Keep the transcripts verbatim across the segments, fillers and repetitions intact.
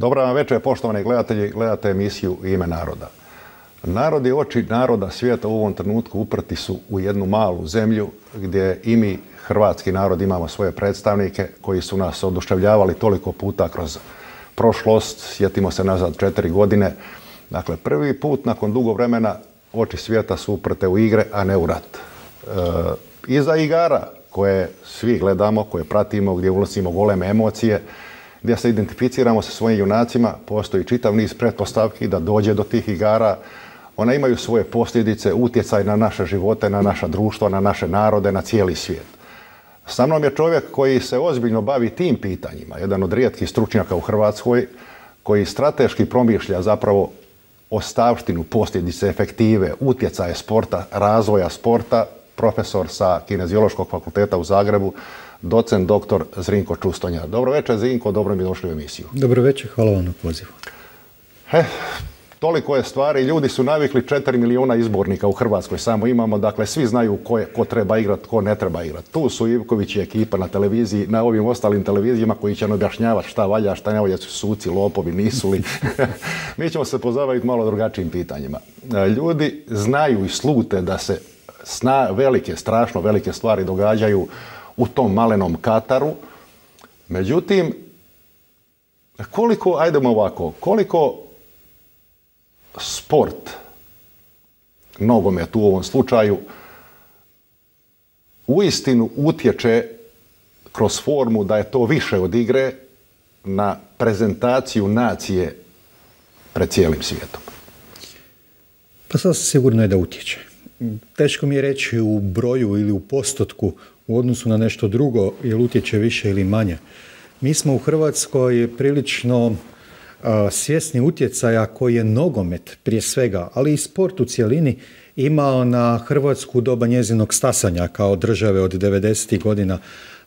Dobra vam večer, poštovani gledatelji, gledate emisiju Ime naroda. Narod i oči naroda svijeta u ovom trenutku uprti su u jednu malu zemlju gdje i mi, hrvatski narod, imamo svoje predstavnike koji su nas oduševljavali toliko puta kroz prošlost. Sjetimo se nazad četiri godine. Dakle, prvi put nakon dugo vremena oči svijeta su uprte u igre, a ne u rat. E, iza igara koje svi gledamo, koje pratimo, gdje unosimo goleme emocije, gdje se identificiramo sa svojim junacima, postoji čitav niz pretpostavki da dođe do tih igara. One imaju svoje posljedice, utjecaj na naše živote, na naša društva, na naše narode, na cijeli svijet. Sa mnom je čovjek koji se ozbiljno bavi tim pitanjima, jedan od rijetkih stručnjaka u Hrvatskoj, koji strateški promišlja zapravo ostavštinu, posljedice, efektive, utjecaje sporta, razvoja sporta, profesor sa Kineziološkog fakulteta u Zagrebu, docent doktor Zrinko Čustonja. Dobro večer, Zrinko, dobro mi došli u emisiju. Dobro večer, hvala vam na pozivu. He, toliko je stvari, ljudi su navikli četiri milijuna izbornika u Hrvatskoj samo imamo, dakle svi znaju ko, je, ko treba igrati, ko ne treba igrati. Tu su Ivković i ekipa na televiziji, na ovim ostalim televizijama koji će nam objašnjavati šta valja, šta ne valja, su suci, lopovi, nisu li. Mi ćemo se pozabaviti malo drugačijim pitanjima. Ljudi znaju i slute da se sna, velike, strašno velike stvari događaju u tom malenom Kataru. Međutim, koliko, ajdemo ovako, koliko sport, nogomet u ovom slučaju, uistinu utječe kroz formu da je to više od igre na prezentaciju nacije pred cijelim svijetom? Pa sasvim sigurno je da utječe. Teško mi je reći u broju ili u postotku u odnosu na nešto drugo, jer utječe više ili manje. Mi smo u Hrvatskoj prilično uh, svjesni utjecaja koji je nogomet prije svega, ali i sport u cjelini imao na Hrvatsku doba njezinog stasanja kao države od devedesetih godina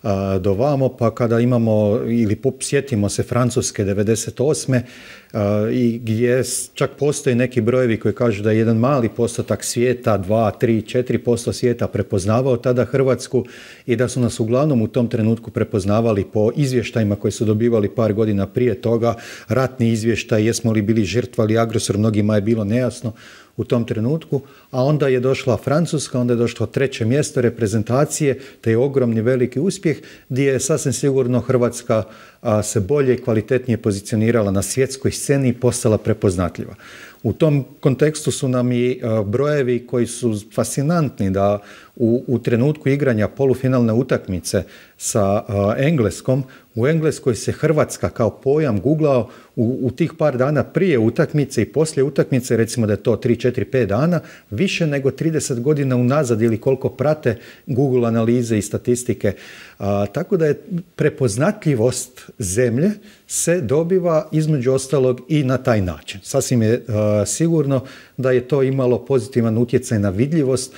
uh, do vamo, pa kada imamo ili sjetimo se Francuske devedeset osme Uh, i gdje čak postoje neki brojevi koji kažu da je jedan mali postotak svijeta, dva, tri, četiri posto svijeta prepoznavao tada Hrvatsku i da su nas uglavnom u tom trenutku prepoznavali po izvještajima koje su dobivali par godina prije toga, ratni izvještaj, jesmo li bili žrtva ili agresor, mnogima je bilo nejasno u tom trenutku, a onda je došla Francuska, onda je došlo treće mjesto reprezentacije, te je ogromni veliki uspjeh gdje je sasvim sigurno Hrvatska a, se bolje i kvalitetnije pozicionirala na svjetskoj sceni i postala prepoznatljiva. U tom kontekstu su nam i a, brojevi koji su fascinantni da u, u trenutku igranja polufinalne utakmice sa a, Engleskom, u Engleskoj se Hrvatska kao pojam googlao u, u tih par dana prije utakmice i poslije utakmice, recimo da je to tri, četiri, pet dana, više nego trideset godina unazad ili koliko prate Google analize i statistike. A, tako da je prepoznatljivost zemlje se dobiva između ostalog i na taj način. Sasvim je a, sigurno da je to imalo pozitivan utjecaj na vidljivost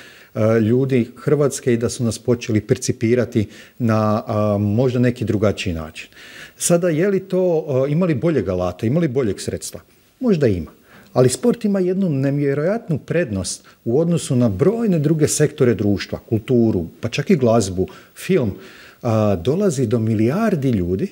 ljudi Hrvatske i da su nas počeli percipirati na a, možda neki drugačiji način. Sada, je li to, a, ima li boljeg alata, ima li boljeg sredstva? Možda ima. Ali sport ima jednu nevjerojatnu prednost u odnosu na brojne druge sektore društva, kulturu, pa čak i glazbu, film. A, dolazi do milijardi ljudi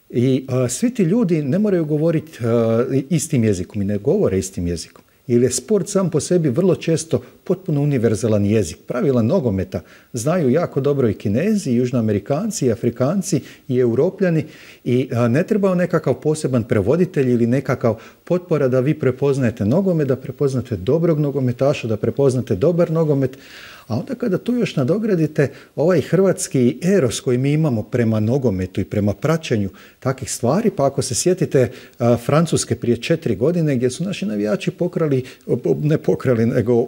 i a, svi ti ljudi ne moraju govoriti a, istim jezikom i ne govore istim jezikom. Jer je sport sam po sebi vrlo često potpuno univerzalan jezik. Pravila nogometa znaju jako dobro i Kinezi, i Južnoamerikanci, i Afrikanci, i Europljani i a, ne treba nekakav poseban prevoditelj ili nekakav potpora da vi prepoznajete nogomet, da prepoznate dobrog nogometaša, da prepoznate dobar nogomet. A onda kada tu još nadogradite ovaj hrvatski eros koji mi imamo prema nogometu i prema praćenju takvih stvari, pa ako se sjetite a, Francuske prije četiri godine gdje su naši navijači pokrali, ne pokrali, nego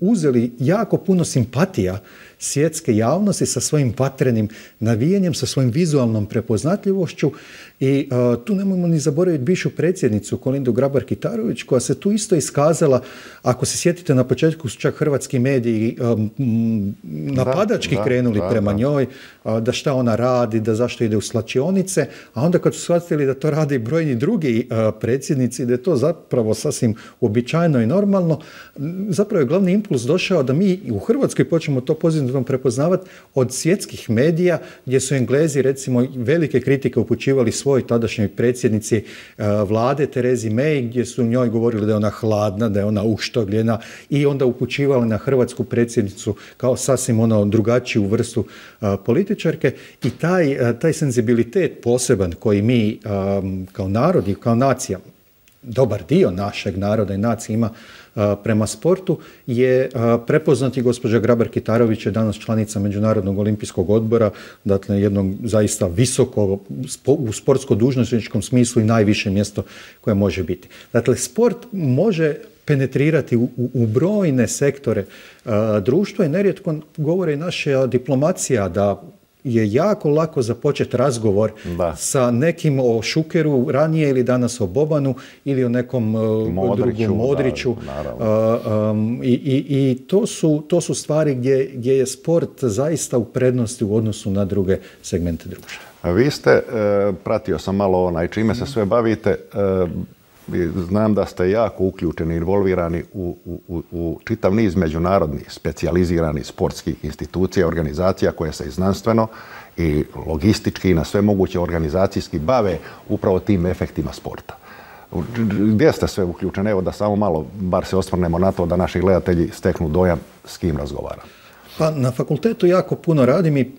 uzeli jako puno simpatija svjetske javnosti sa svojim vatrenim navijenjem, sa svojim vizualnom prepoznatljivošću i uh, tu nemojmo ni zaboraviti bivšu predsjednicu Kolindu Grabar-Kitarović koja se tu isto iskazala, ako se sjetite na početku su čak hrvatski mediji um, napadački da, krenuli da, prema da. njoj, da šta ona radi, da zašto ide u slačionice, a onda kad su shvatili da to rade i brojni drugi predsjednici, da je to zapravo sasvim uobičajeno i normalno, zapravo je glavni impuls došao da mi u Hrvatskoj počnemo to pozitivno prepoznavati od svjetskih medija, gdje su Englezi recimo velike kritike upućivali svoj tadašnjoj predsjednici vlade Terezi May, gdje su njoj govorili da je ona hladna, da je ona uštogljena i onda upućivali na hrvatsku predsjednicu kao sasvim ono drugačiju vrstu a, političarke i taj, a, taj senzibilitet poseban koji mi a, kao narod i kao nacija, dobar dio našeg naroda i nacije ima a, prema sportu je a, prepoznati. Gospođa Grabar-Kitarović je danas članica Međunarodnog olimpijskog odbora, dakle jednog zaista visoko u sportsko-dužnosničkom smislu i najviše mjesto koje može biti. Dakle, sport može penetrirati u, u, u brojne sektore a, društva i nerijetko govore i naša diplomacija da je jako lako započeti razgovor da. sa nekim o Šukeru ranije ili danas o Bobanu ili o nekom Modriću, drugom Modriću. Da, um, i, i, i to su, to su stvari gdje, gdje je sport zaista u prednosti u odnosu na druge segmente društva. A vi ste, e, pratio sam malo onaj čime se sve bavite, e, znam da ste jako uključeni, involvirani u, u, u čitav niz međunarodnih, specijaliziranih sportskih institucija, organizacija koje se i znanstveno i logistički i na sve moguće organizacijski bave upravo tim efektima sporta. Gdje ste sve uključeni? Evo da samo malo, bar se osvrnemo na to da naši gledatelji steknu dojam s kim razgovaramo. Pa na fakultetu jako puno radim i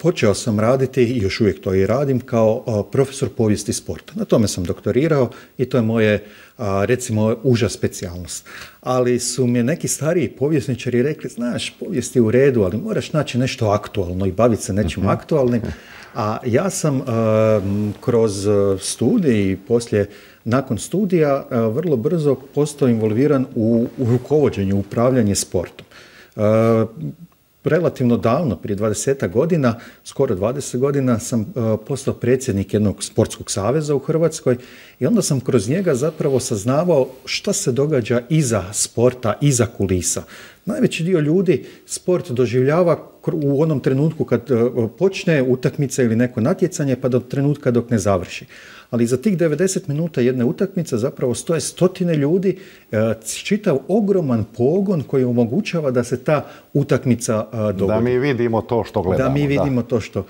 počeo sam raditi i još uvijek to i radim kao profesor povijesti sporta. Na tome sam doktorirao i to je moje, recimo, uža specijalnost. Ali su mi neki stariji povjesničari rekli, znaš, povijest je u redu, ali moraš naći nešto aktualno i baviti se nečim uh-huh. aktualnim. A ja sam uh, kroz studij i poslije, nakon studija, uh, vrlo brzo postao involviran u, u rukovođenju, upravljanje sportom. Uh, Relativno davno, prije dvadesetak godina, skoro dvadeset godina, sam uh, postao predsjednik jednog sportskog saveza u Hrvatskoj i onda sam kroz njega zapravo saznavao šta se događa iza sporta, iza kulisa. Najveći dio ljudi sport doživljava u onom trenutku kad uh, počne utakmica ili neko natjecanje pa do trenutka dok ne završi. Ali za tih devedeset minuta jedne utakmice zapravo stoje stotine ljudi, čitav ogroman pogon koji omogućava da se ta utakmica dogodi. Da mi vidimo to što gledamo. Da mi vidimo da. to što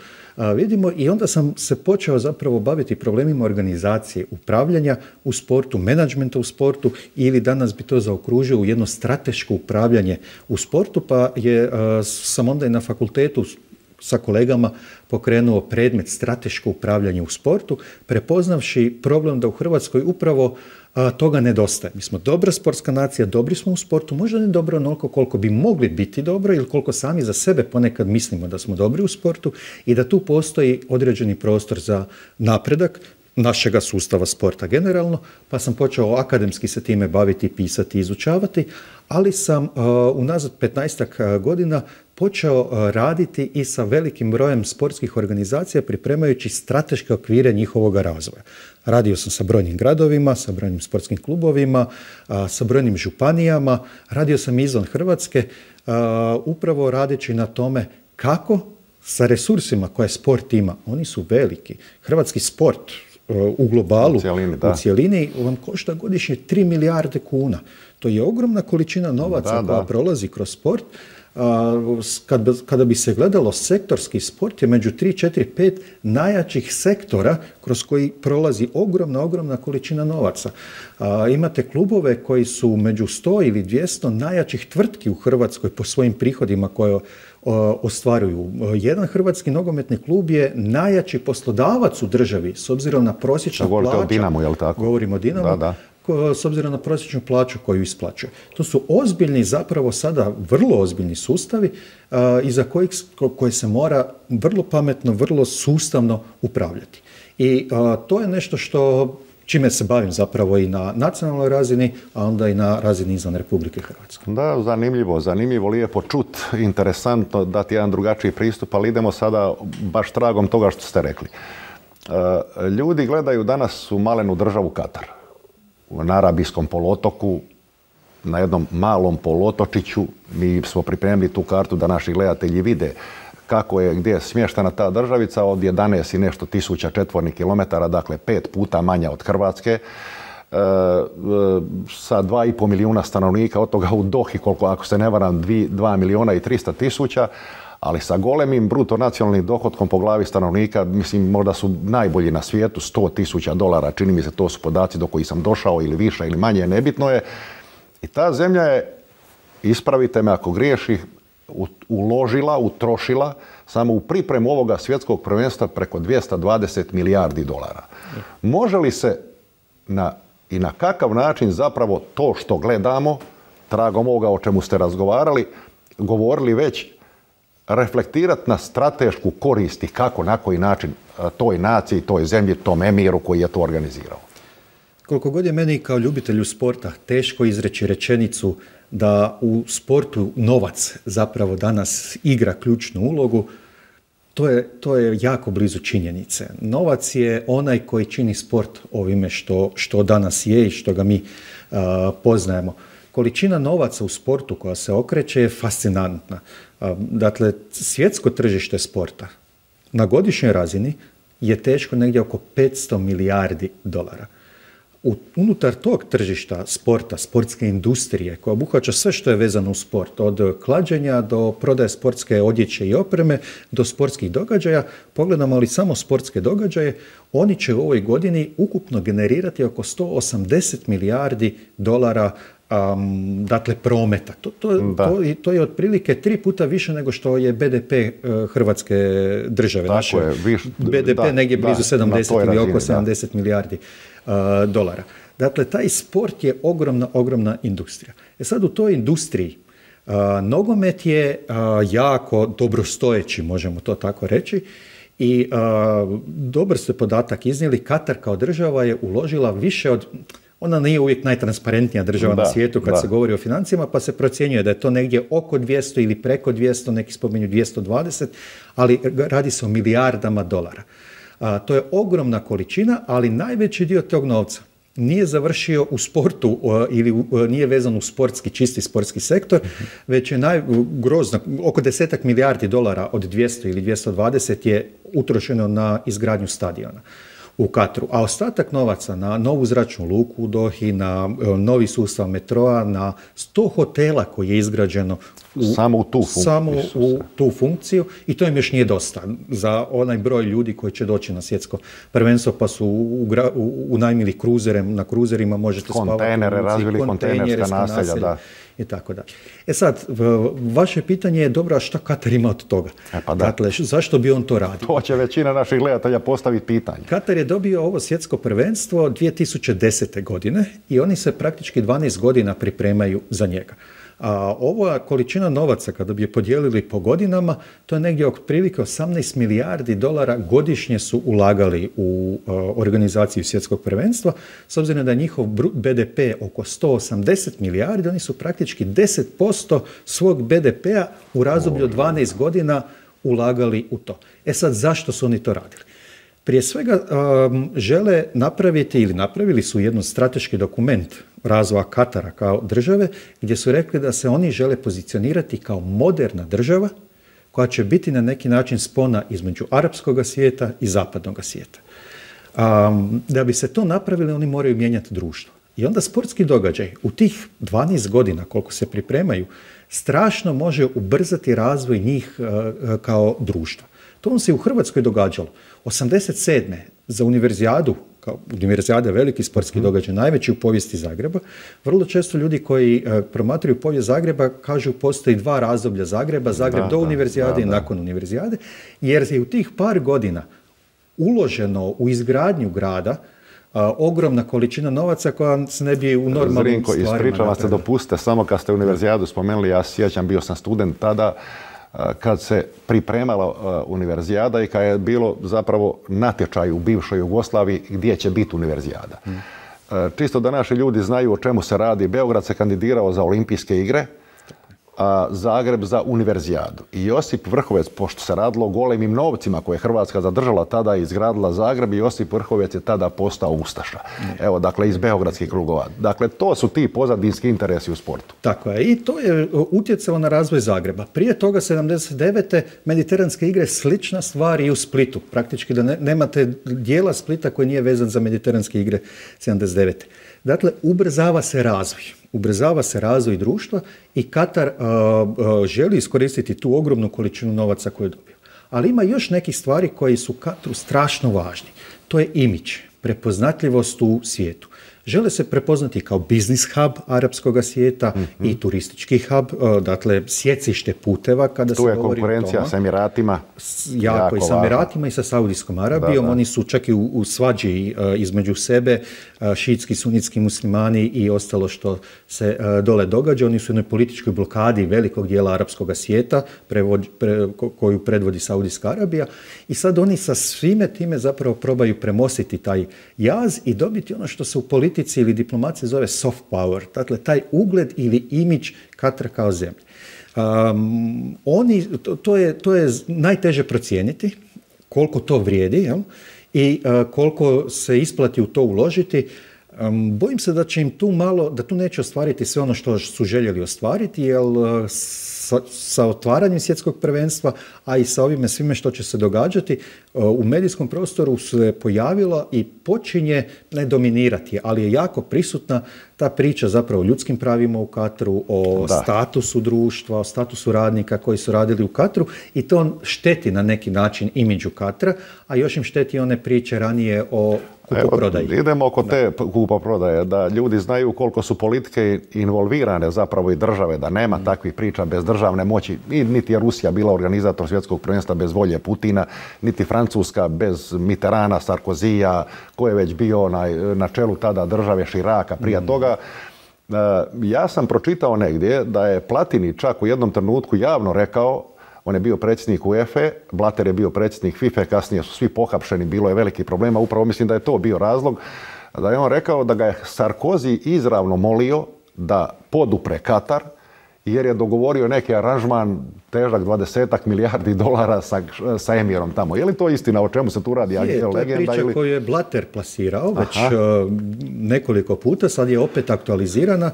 vidimo i onda sam se počeo zapravo baviti problemima organizacije, upravljanja u sportu, menadžmenta u sportu ili danas bi to zaokružio u jedno strateško upravljanje u sportu, pa je, sam onda i na fakultetu sa kolegama pokrenuo predmet strateško upravljanje u sportu, prepoznavši problem da u Hrvatskoj upravo a, toga nedostaje. Mi smo dobra sportska nacija, dobri smo u sportu, možda ne dobro onoliko koliko bi mogli biti dobro ili koliko sami za sebe ponekad mislimo da smo dobri u sportu i da tu postoji određeni prostor za napredak našega sustava sporta generalno, pa sam počeo akademski se time baviti, pisati, izučavati, ali sam uh, unazad petnaestak godina počeo uh, raditi i sa velikim brojem sportskih organizacija pripremajući strateške okvire njihovog razvoja. Radio sam sa brojnim gradovima, sa brojnim sportskim klubovima, uh, sa brojnim županijama, radio sam izvan Hrvatske, uh, upravo radeći na tome kako sa resursima koje sport ima, oni su veliki. Hrvatski sport u globalu, u cijelini, u cijelini vam košta godišnje tri milijarde kuna. To je ogromna količina novaca da, koja da. prolazi kroz sport. Kada, kada bi se gledalo sektorski sport je među tri, četiri, pet najjačih sektora kroz koji prolazi ogromna, ogromna količina novaca. A, imate klubove koji su među sto ili dvjesto najjačih tvrtki u Hrvatskoj po svojim prihodima koje ostvaruju. Jedan hrvatski nogometni klub je najjači poslodavac u državi s obzirom na prosječnu plaću. Govorite o Dinamu, je li tako? Govorimo o Dinamu. Da, da. S obzirom na prosječnu plaću koju isplaćuje. To su ozbiljni, zapravo sada vrlo ozbiljni sustavi uh, iza kojih koje se mora vrlo pametno, vrlo sustavno upravljati. I uh, to je nešto što čime se bavim zapravo i na nacionalnoj razini, a onda i na razini izvan Republike Hrvatske. Da, zanimljivo, zanimljivo, lijepo čut, interesantno dati jedan drugačiji pristup, ali idemo sada baš tragom toga što ste rekli. Uh, ljudi gledaju danas u malenu državu Katar. Na Arabijskom poluotoku, na jednom malom poluotočiću. Mi smo pripremili tu kartu da naši gledatelji vide kako je, gdje je smještena ta državica od jedanaest i nešto tisuća četvornih kilometara, dakle pet puta manja od Hrvatske, e, e, sa dva i pol milijuna stanovnika, od toga u Dohi, koliko, ako se ne varam, dva milijuna i trista tisuća, ali sa golemim bruto nacionalnim dohotkom po glavi stanovnika, mislim, možda su najbolji na svijetu, sto tisuća dolara, čini mi se, to su podaci do kojih sam došao, ili više ili manje, nebitno je. I ta zemlja je, ispravite me ako griješi, uložila, utrošila samo u pripremu ovoga svjetskog prvenstva preko dvjesto dvadeset milijardi dolara. Može li se na, i na kakav način zapravo to što gledamo, tragom ovoga o čemu ste razgovarali, govorili već, reflektirati na stratešku korist i kako, na koji način toj naciji, toj zemlji, tom emiru koji je to organizirao? Koliko god je meni kao ljubitelju sporta teško izreći rečenicu da u sportu novac zapravo danas igra ključnu ulogu, to je, to je jako blizu činjenice. Novac je onaj koji čini sport ovime što, što danas je i što ga mi uh, poznajemo. Količina novaca u sportu koja se okreće je fascinantna. Uh, dakle, svjetsko tržište sporta na godišnjoj razini je teško negdje oko petsto milijardi dolara. Unutar tog tržišta sporta, sportske industrije, koja obuhvaća sve što je vezano u sport, od klađenja do prodaje sportske odjeće i opreme, do sportskih događaja, pogledamo li samo sportske događaje, oni će u ovoj godini ukupno generirati oko sto osamdeset milijardi dolara um, dakle prometa. To, to, to, to je otprilike tri puta više nego što je B D P uh, Hrvatske države. Tako Naše je, viš, B D P da, negdje blizu da, sedamdeset ili razini, oko sedamdeset da. milijardi uh, dolara. Dakle, taj sport je ogromna, ogromna industrija. E sad u toj industriji uh, nogomet je uh, jako dobrostojeći, možemo to tako reći, i uh, dobar ste podatak iznijeli, Katar kao država je uložila više od, ona nije uvijek najtransparentnija država da, na svijetu kad da. se govori o financijama, pa se procjenjuje da je to negdje oko dvjesto ili preko dvjesto, neki spominju dvjesto dvadeset, ali radi se o milijardama dolara. A, to je ogromna količina, ali najveći dio tog novca nije završio u sportu o, ili u, nije vezan u sportski, čisti sportski sektor, mm-hmm. već je najgrozno, oko desetak milijardi dolara od dvjesto ili dvjesto dvadeset je utrošeno na izgradnju stadiona u Katru, a ostatak novaca na novu zračnu luku u Dohi, na novi sustav metroa, na sto hotela koji je izgrađeno u, samo, u tu, funkciju. samo u tu funkciju, i to im još nije dosta za onaj broj ljudi koji će doći na svjetsko prvenstvo, pa su unajmili u, u kruzere, na kruzerima možete spavati. Kontejnere, razvili kontejnerska naselja, naselja, da. I tako da. E sad, vaše pitanje je dobro, a šta Katar ima od toga? E pa da. Dakle, zašto bi on to radio? To će većina naših gledatelja postaviti pitanje. Katar je dobio ovo svjetsko prvenstvo dvije tisuće desete. godine i oni se praktički dvanaest godina pripremaju za njega. A ova količina novaca, kada bi je podijelili po godinama, to je negdje otprilike osamnaest milijardi dolara godišnje su ulagali u uh, organizaciju svjetskog prvenstva. S obzirom da je njihov B D P oko sto osamdeset milijardi, oni su praktički deset posto svog B D P-a u razdoblju od dvanaest godina ulagali u to. E sad, zašto su oni to radili? Prije svega um, žele napraviti ili napravili su jedan strateški dokument razvoja Katara kao države, gdje su rekli da se oni žele pozicionirati kao moderna država koja će biti na neki način spona između arapskog svijeta i zapadnog svijeta. Um, da bi se to napravili, oni moraju mijenjati društvo. I onda sportski događaj u tih dvanaest godina koliko se pripremaju strašno može ubrzati razvoj njih uh, kao društva. To vam se u Hrvatskoj događalo. osamdeset sedme za univerzijadu, kao univerzijada je veliki sportski događaj, najveći u povijesti Zagreba. Vrlo često ljudi koji uh, promatraju povijest Zagreba kažu postoji dva razdoblja Zagreba, Zagreb da, do univerzijade da, da, i nakon univerzijade, jer je u tih par godina uloženo u izgradnju grada uh, ogromna količina novaca koja se ne bi u normalnom Zrinko, stvarima ispričavam se, dopustite, samo kad ste univerzijadu spomenuli, ja sjećam, bio sam student tada, kad se pripremala uh, univerzijada i kad je bilo zapravo natječaj u bivšoj Jugoslaviji gdje će biti univerzijada. Mm. Uh, čisto da naši ljudi znaju o čemu se radi. Beograd se kandidirao za olimpijske igre, a Zagreb za univerzijadu. I Josip Vrhovec, pošto se radilo o golemim novcima koje je Hrvatska zadržala tada i izgradila Zagreb, i Josip Vrhovec je tada postao ustaša. Evo, dakle, iz beogradskih krugova. Dakle, to su ti pozadinski interesi u sportu. Tako je. I to je utjecalo na razvoj Zagreba. Prije toga, sedamdeset devete mediteranske igre, slična stvar i u Splitu. Praktički da ne, nemate dijela Splita koji nije vezan za mediteranske igre sedamdeset devete. Dakle, ubrzava se razvoj. Ubrzava se razvoj društva i Katar uh, uh, želi iskoristiti tu ogromnu količinu novaca koju je dobio. Ali ima još nekih stvari koji su Kataru strašno važni. To je imidž, prepoznatljivost u svijetu. Žele se prepoznati kao biznis hub arapskog svijeta mm-hmm. i turistički hub, dakle sjecište puteva kada tu se je govori o tome. Konkurencija s Emiratima. Jako, jako i s Emiratima i sa Saudijskom Arabijom. Da, da. Oni su čak i u, u svađi uh, između sebe, uh, šiitski, sunitski muslimani i ostalo što se uh, dole događa. Oni su u jednoj političkoj blokadi velikog dijela arapskog svijeta prevod, pre, ko, koju predvodi Saudijska Arabija. I sad oni sa svime time zapravo probaju premostiti taj jaz i dobiti ono što se u politici ili diplomaciji zove soft power, dakle taj ugled ili imidž Katara kao zemlje. Um, oni, to, to, je, to je najteže procijeniti koliko to vrijedi, jel? I uh, koliko se isplati u to uložiti. Um, bojim se da će im tu malo, da tu neće ostvariti sve ono što su željeli ostvariti, jer uh, sa, sa otvaranjem svjetskog prvenstva, a i sa ovime svime što će se događati, uh, u medijskom prostoru se pojavilo i počinje ne dominirati, ali je jako prisutna ta priča zapravo o ljudskim pravima u Kataru, o da. statusu društva, o statusu radnika koji su radili u Kataru i to šteti na neki način imidžu Katara, a još im šteti one priče ranije o kupoprodaji. Evo, idemo oko da. te kupoprodaje, da ljudi znaju koliko su politike involvirane zapravo i države, da nema mm. takvih priča bez državne moći. I niti je Rusija bila organizator svjetskog prvenstva bez volje Putina, niti Francuska bez Mitterranda, Sarkozija, ko je već bio na, na čelu tada države, Širaka prije mm. toga. Ja sam pročitao negdje da je Platini čak u jednom trenutku javno rekao, on je bio predsjednik U E F E, Blatter je bio predsjednik FIFA, kasnije su svi pohapšeni, bilo je velikih problema, upravo mislim da je to bio razlog, da je on rekao da ga je Sarkozy izravno molio da podupre Katar, jer je dogovorio neki aranžman težak dvadesetak milijardi dolara sa, sa emirom tamo. Je li to istina? O čemu se tu radi? Je, to je priča ili... koju je Blatter plasirao već uh, nekoliko puta, sad je opet aktualizirana,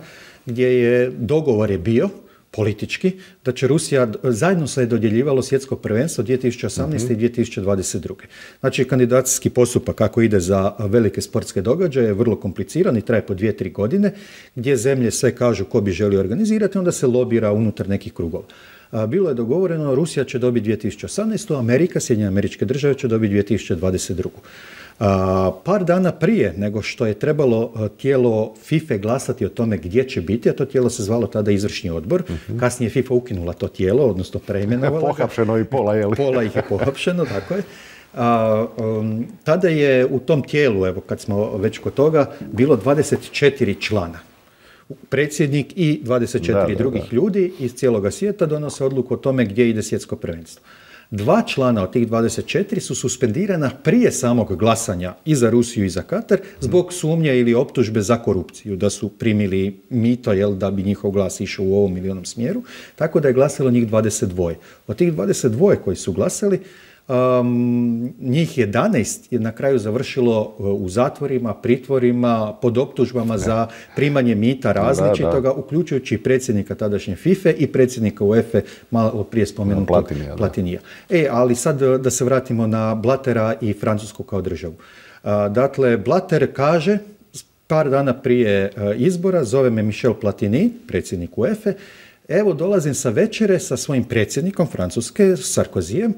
gdje je dogovor je bio politički, da će Rusija, zajedno se je dodjeljivalo svjetsko prvenstvo dvije tisuće osamnaeste. Mm-hmm. i dvije tisuće dvadeset druge. Znači, kandidacijski postupak kako ide za velike sportske događaje je vrlo kompliciran i traje po dvije, tri godine, gdje zemlje sve kažu ko bi želio organizirati, onda se lobira unutar nekih krugova. Bilo je dogovoreno, Rusija će dobiti dvije tisuće osamnaeste. Amerika, Sjedinjene Američke Države će dobiti dvije tisuće dvadeset druge. Uh, par dana prije nego što je trebalo uh, tijelo FIFA glasati o tome gdje će biti, a to tijelo se zvalo tada izvršni odbor, uh-huh. kasnije FIFA ukinula to tijelo, odnosno preimenovala. Pohapšeno i pola, je li? Pola ih je pohapšeno, tako je. Uh, um, tada je u tom tijelu, evo kad smo već kod toga, bilo dvadeset četiri člana. Predsjednik i dvadeset četiri da, drugih da, da. ljudi iz cijeloga svijeta donose odluku o tome gdje ide svjetsko prvenstvo. Dva člana od tih dvadeset četiri su suspendirana prije samog glasanja i za Rusiju i za Katar zbog sumnje ili optužbe za korupciju, da su primili mito, jel, da bi njihov glas išao u ovom ili onom smjeru, tako da je glasalo njih dvadeset dva. Od tih dvadeset dva koji su glasali, Um, njih jedanaest je na kraju završilo u zatvorima, pritvorima, pod optužbama za primanje mita različitoga, da, da. uključujući predsjednika tadašnje FIFA i predsjednika U E F E, malo prije spomenutog Platinija. Platinija. E, ali sad da se vratimo na Blattera i Francusku kao državu. Uh, dakle, Blatter kaže, par dana prije uh, izbora, zove me Michel Platini, predsjednik U E F E, evo dolazim sa večere sa svojim predsjednikom Francuske, Sarkozyjem,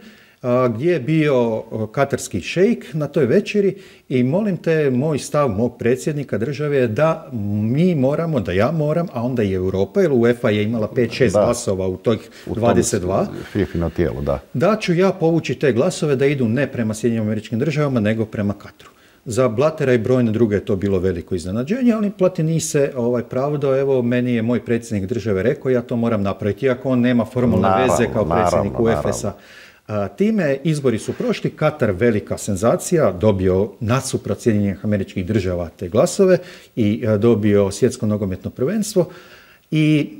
gdje je bio katarski šejk na toj večeri i molim te, moj stav mog predsjednika države je da mi moramo, da ja moram, a onda i Europa, jer UEFA je imala pet šest glasova u toj dvadeset dva, FIFIno tijelo, da. da ću ja povući te glasove da idu ne prema Sjedinjenim Američkim Državama, nego prema Kataru. Za Blattera i brojne druge je to bilo veliko iznenađenje, ali Platini se ovaj pravdao, evo, meni je moj predsjednik države rekao, ja to moram napraviti, iako on nema formalne naravno, veze kao predsjednik naravno, U E F E-a. A, time izbori su prošli, Katar velika senzacija, dobio nasuprot Sjedinjenih Američkih Država te glasove i a, dobio svjetsko nogometno prvenstvo i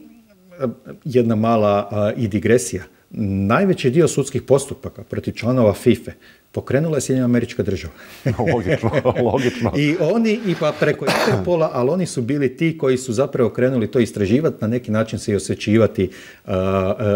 jedna mala uh, i digresija. Najveći dio sudskih postupaka protiv članova FIFA pokrenula je Sjedinjena Američka Država. Logično, logično. I oni, i pa preko Interpola, ali oni su bili ti koji su zapravo krenuli to istraživati, na neki način se i osvećivati uh, uh,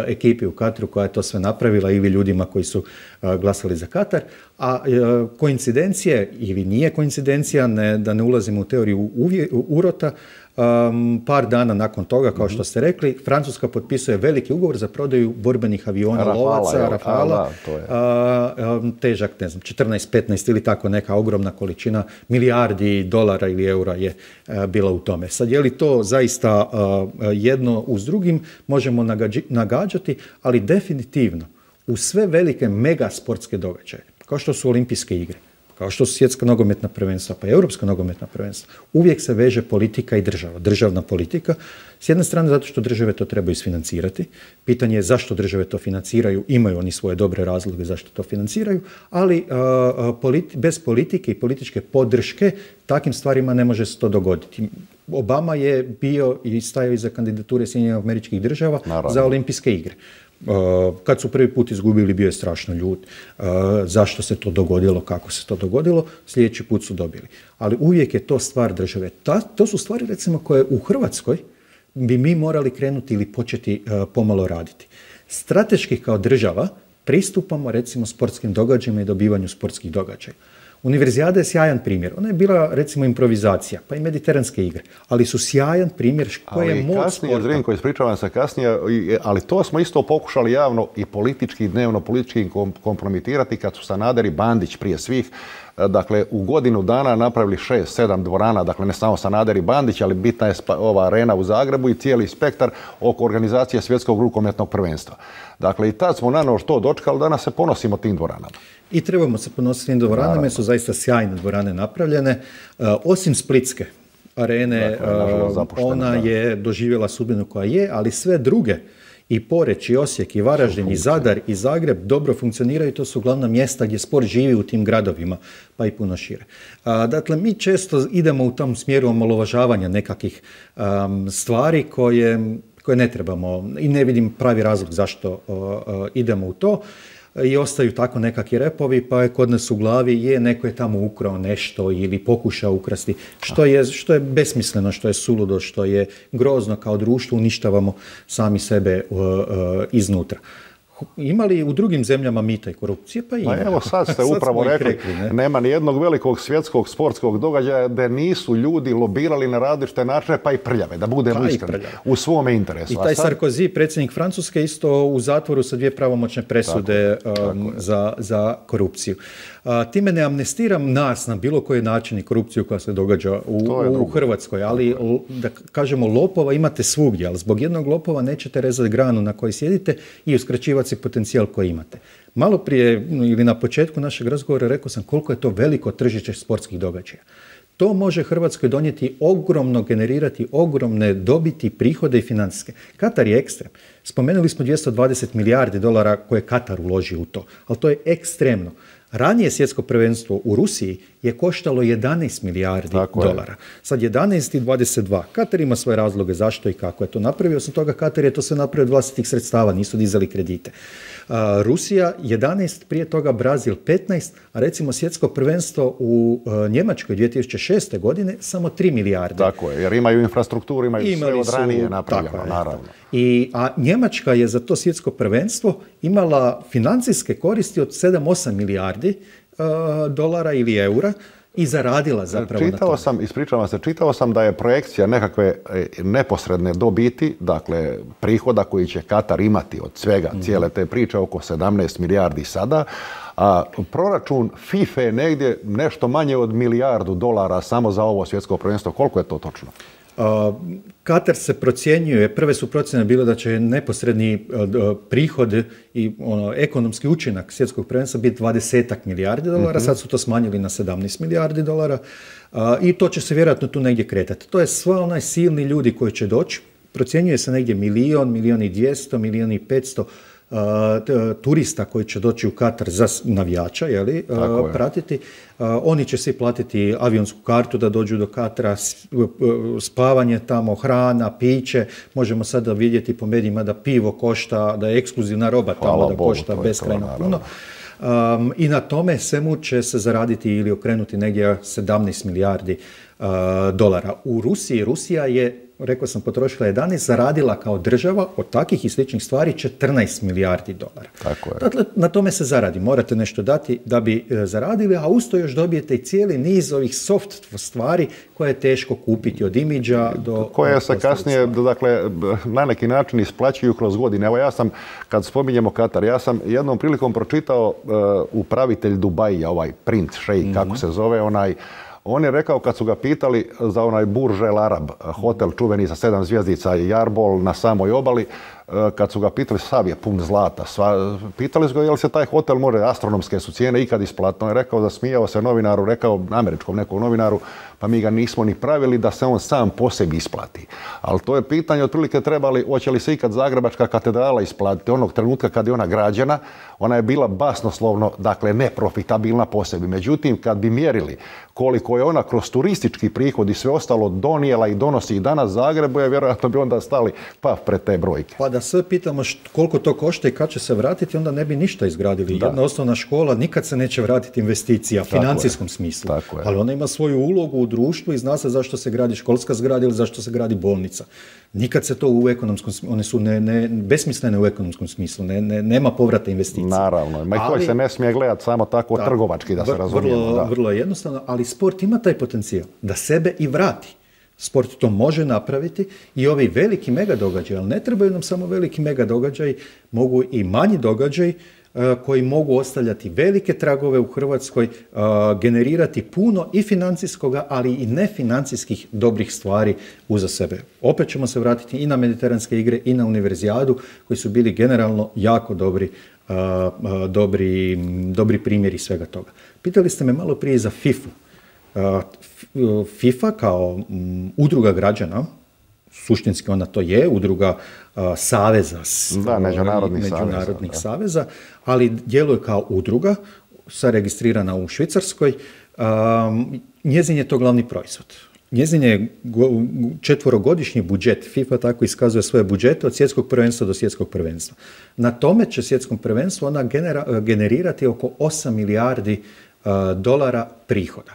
ekipi u Kataru koja je to sve napravila ili ljudima koji su uh, glasali za Katar. A uh, koincidencije, ili nije koincidencija, ne, da ne ulazimo u teoriju uvje, urota, Um, par dana nakon toga, kao što ste rekli, Francuska potpisuje veliki ugovor za prodaju borbenih aviona, Rafala, lovaca, Rafala, a, um, težak, ne znam, četrnaest petnaest ili tako neka ogromna količina, milijardi dolara ili eura je uh, bila u tome. Sad, je li to zaista uh, jedno uz drugim, možemo nagađi, nagađati, ali definitivno u sve velike mega sportske događaje, kao što su olimpijske igre, kao što su svjetska nogometna prvenstva, pa i europska nogometna prvenstva, uvijek se veže politika i država, državna politika. S jedne strane zato što države to trebaju isfinancirati. Pitanje je zašto države to financiraju, imaju oni svoje dobre razloge zašto to financiraju, ali a, politi- bez politike i političke podrške takvim stvarima ne može se to dogoditi. Obama je bio i stajao iza kandidature Sjedinjenih Američkih Država Naravno. za olimpijske igre. Uh, kad su prvi put izgubili, bio je strašno ljut. Uh, zašto se to dogodilo, kako se to dogodilo, sljedeći put su dobili. Ali uvijek je to stvar države. Ta, to su stvari, recimo, koje u Hrvatskoj bi mi morali krenuti ili početi uh, pomalo raditi. Strateški kao država pristupamo, recimo, sportskim događajima i dobivanju sportskih događaja. Univerzijada je sjajan primjer. Ona je bila, recimo, improvizacija, pa i mediteranske igre, ali su sjajan primjer koje je moć kasnije, sporta. Zrinko, ispričavam se kasnije, ali to smo isto pokušali javno i politički, dnevno politički kompromitirati kad su Sanader i Bandić prije svih, dakle, u godinu dana napravili šest, sedam dvorana, dakle, ne samo Sanader i Bandić, ali bitna je ova arena u Zagrebu i cijeli spektar oko organizacije svjetskog rukometnog prvenstva. Dakle, i tad smo naravno to dočekali, danas se ponosimo tim dvoranama. I trebamo se ponositi tim dvoranama, jer su zaista sjajne dvorane napravljene. Uh, osim Splitske arene, dakle, uh, ona da. je doživjela sudbinu koja je, ali sve druge, i Poreč, i Osijek, i Varaždin, i Zadar, i Zagreb dobro funkcioniraju. To su glavna mjesta gdje sport živi u tim gradovima, pa i puno šire. Uh, dakle, mi često idemo u tom smjeru omalovažavanja nekakvih um, stvari koje, koje ne trebamo i ne vidim pravi razlog zašto uh, uh, idemo u to. I ostaju tako nekakvi repovi, pa je kod nas u glavi je neko je tamo ukrao nešto ili pokušao ukrasti, što je, što je besmisleno, što je suludo, što je grozno kao društvo, uništavamo sami sebe uh, uh, iznutra. Imali u drugim zemljama mita i korupcije? Pa ima. Pa evo sad ste sad upravo rekli, rekli ne? nema ni jednog velikog svjetskog sportskog događaja da nisu ljudi lobirali na različite načine, pa i prljave, da budemo iskreni, u svome interesu. I taj sad... Sarkozy, predsjednik Francuske, isto u zatvoru sa dvije pravomoćne presude tako, um, tako za, za korupciju. A, time ne amnestiram nas na bilo koji način i korupciju koja se događa u, u Hrvatskoj, ali da kažemo lopova imate svugdje, ali zbog jednog lopova nećete rezati granu na kojoj sjedite i uskraćivati si potencijal koji imate. Malo prije ili na početku našeg razgovora rekao sam koliko je to veliko tržište sportskih događaja. To može Hrvatskoj donijeti ogromno, generirati ogromne dobiti, prihode i financijske. Katar je ekstrem. Spomenuli smo dvjesto dvadeset milijardi dolara koje Katar uloži u to, ali to je ekstremno. Ranije svjetsko prvenstvo u Rusiji je koštalo jedanaest milijardi Tako dolara. Je. Sad jedanaest i dvadeset dva. Katar ima svoje razloge zašto i kako je to napravio. Osim toga, Katar je to sve napravio od vlastitih sredstava, nisu dizali kredite. Uh, Rusija jedanaest, prije toga Brazil petnaest, a recimo svjetsko prvenstvo u uh, Njemačkoj dvije tisuće šeste godine samo tri milijarde. Tako je, jer imaju infrastrukturu, imaju Imali sve od ranije su, napravljeno, tako je, naravno. I, a Njemačka je za to svjetsko prvenstvo imala financijske koristi od sedam osam milijardi uh, dolara ili eura i zaradila zapravo čitao na tome. Sam, ispričavam se, čitao sam da je projekcija nekakve neposredne dobiti, dakle prihoda koji će Katar imati od svega, mm-hmm. cijele te priče, oko sedamnaest milijardi sada, a proračun FIFA je negdje nešto manje od milijardu dolara samo za ovo svjetsko prvenstvo. Koliko je to točno? Uh, Katar se procjenjuje, prve su procjene bile da će neposredni uh, prihod i ono, ekonomski učinak svjetskog prvenstva biti dvadesetak milijardi dolara, mm-hmm. sad su to smanjili na sedamnaest milijardi dolara uh, i to će se vjerojatno tu negdje kretati. To je sva onaj silni ljudi koji će doći, procjenjuje se negdje milijon, milijon i dvjesto, milijon i petsto turista koji će doći u Katar za navijača, jeli, uh, pratiti. Uh, oni će svi platiti avionsku kartu da dođu do Katara, spavanje tamo, hrana, piće. Možemo sada vidjeti po medijima da pivo košta, da je ekskluzivna roba tamo, Hvala da Bogu, košta beskrajno puno. Um, I na tome svemu će se zaraditi ili okrenuti negdje sedamnaest milijardi uh, dolara. U Rusiji, Rusija je, rekao sam, potrošila jedanaest, zaradila kao država od takvih i sličnih stvari četrnaest milijardi dolara. Tako je. Dakle, na tome se zaradi. Morate nešto dati da bi e, zaradili, a usto još dobijete i cijeli niz ovih soft stvari koje je teško kupiti, od imidža do... Koje se kasnije, dakle, na neki način isplaćuju kroz godine. Evo ja sam, kad spominjemo Katar, ja sam jednom prilikom pročitao uh, upravitelj Dubaija, ovaj princ, šejk, mm-hmm. kako se zove, onaj, on je rekao kad su ga pitali za onaj Burj El Arab, hotel čuveni sa sedam zvjezdica i Jarbol na samoj obali, kad su ga pitali, sav je pun zlata, sva, pitali su ga je li se taj hotel može, astronomske su cijene ikad isplatno. On je rekao, zasmijao se novinaru, rekao američkom nekom novinaru, pa mi ga nismo ni pravili da se on sam po sebi isplati. Ali to je pitanje otprilike trebali, hoće li se ikad Zagrebačka katedrala isplatiti. Onog trenutka kad je ona građena, ona je bila basnoslovno, dakle neprofitabilna po sebi. Međutim, kad bi mjerili koliko je ona kroz turistički prihod i sve ostalo donijela i donosi i danas Zagrebu, je vjerojatno bi onda stali pa pred te brojke. Pa da sve pitamo št, koliko to košta i kad će se vratiti, onda ne bi ništa izgradili. Da. Jedna osnovna škola nikad se neće vratiti investicija u financijskom smislu. Ali ona ima svoju ulogu u društvu i zna se zašto se gradi školska zgrada ili zašto se gradi bolnica. Nikad se to u ekonomskom smislu, one su ne, ne, besmislene u ekonomskom smislu, ne, ne, nema povrata investicija. Naravno, ma i koji se ne smije gledati samo tako da, trgovački, da se razumijemo. Vrlo, da. vrlo jednostavno, ali sport ima taj potencijal da sebe i vrati. Sport to može napraviti i ovi veliki mega događaji, ali ne trebaju nam samo veliki mega događaji, mogu i manji događaji uh, koji mogu ostavljati velike tragove u Hrvatskoj, uh, generirati puno i financijskoga, ali i nefinancijskih dobrih stvari uza sebe. Opet ćemo se vratiti i na mediteranske igre i na univerzijadu koji su bili generalno jako dobri, uh, uh, dobri, dobri primjeri svega toga. Pitali ste me malo prije za fifu. FIFA kao um, udruga građana, suštinski ona to je, udruga uh, saveza, da, međunarodnih, međunarodnih saveza, saveza, ali djeluje kao udruga, sa registrirana u Švicarskoj. Um, njezin je to glavni proizvod. Njezin je četvorogodišnji budžet, FIFA tako iskazuje svoje budžete od svjetskog prvenstva do svjetskog prvenstva. Na tome će svjetskom prvenstvu ona genera, generirati oko osam milijardi uh, dolara prihoda.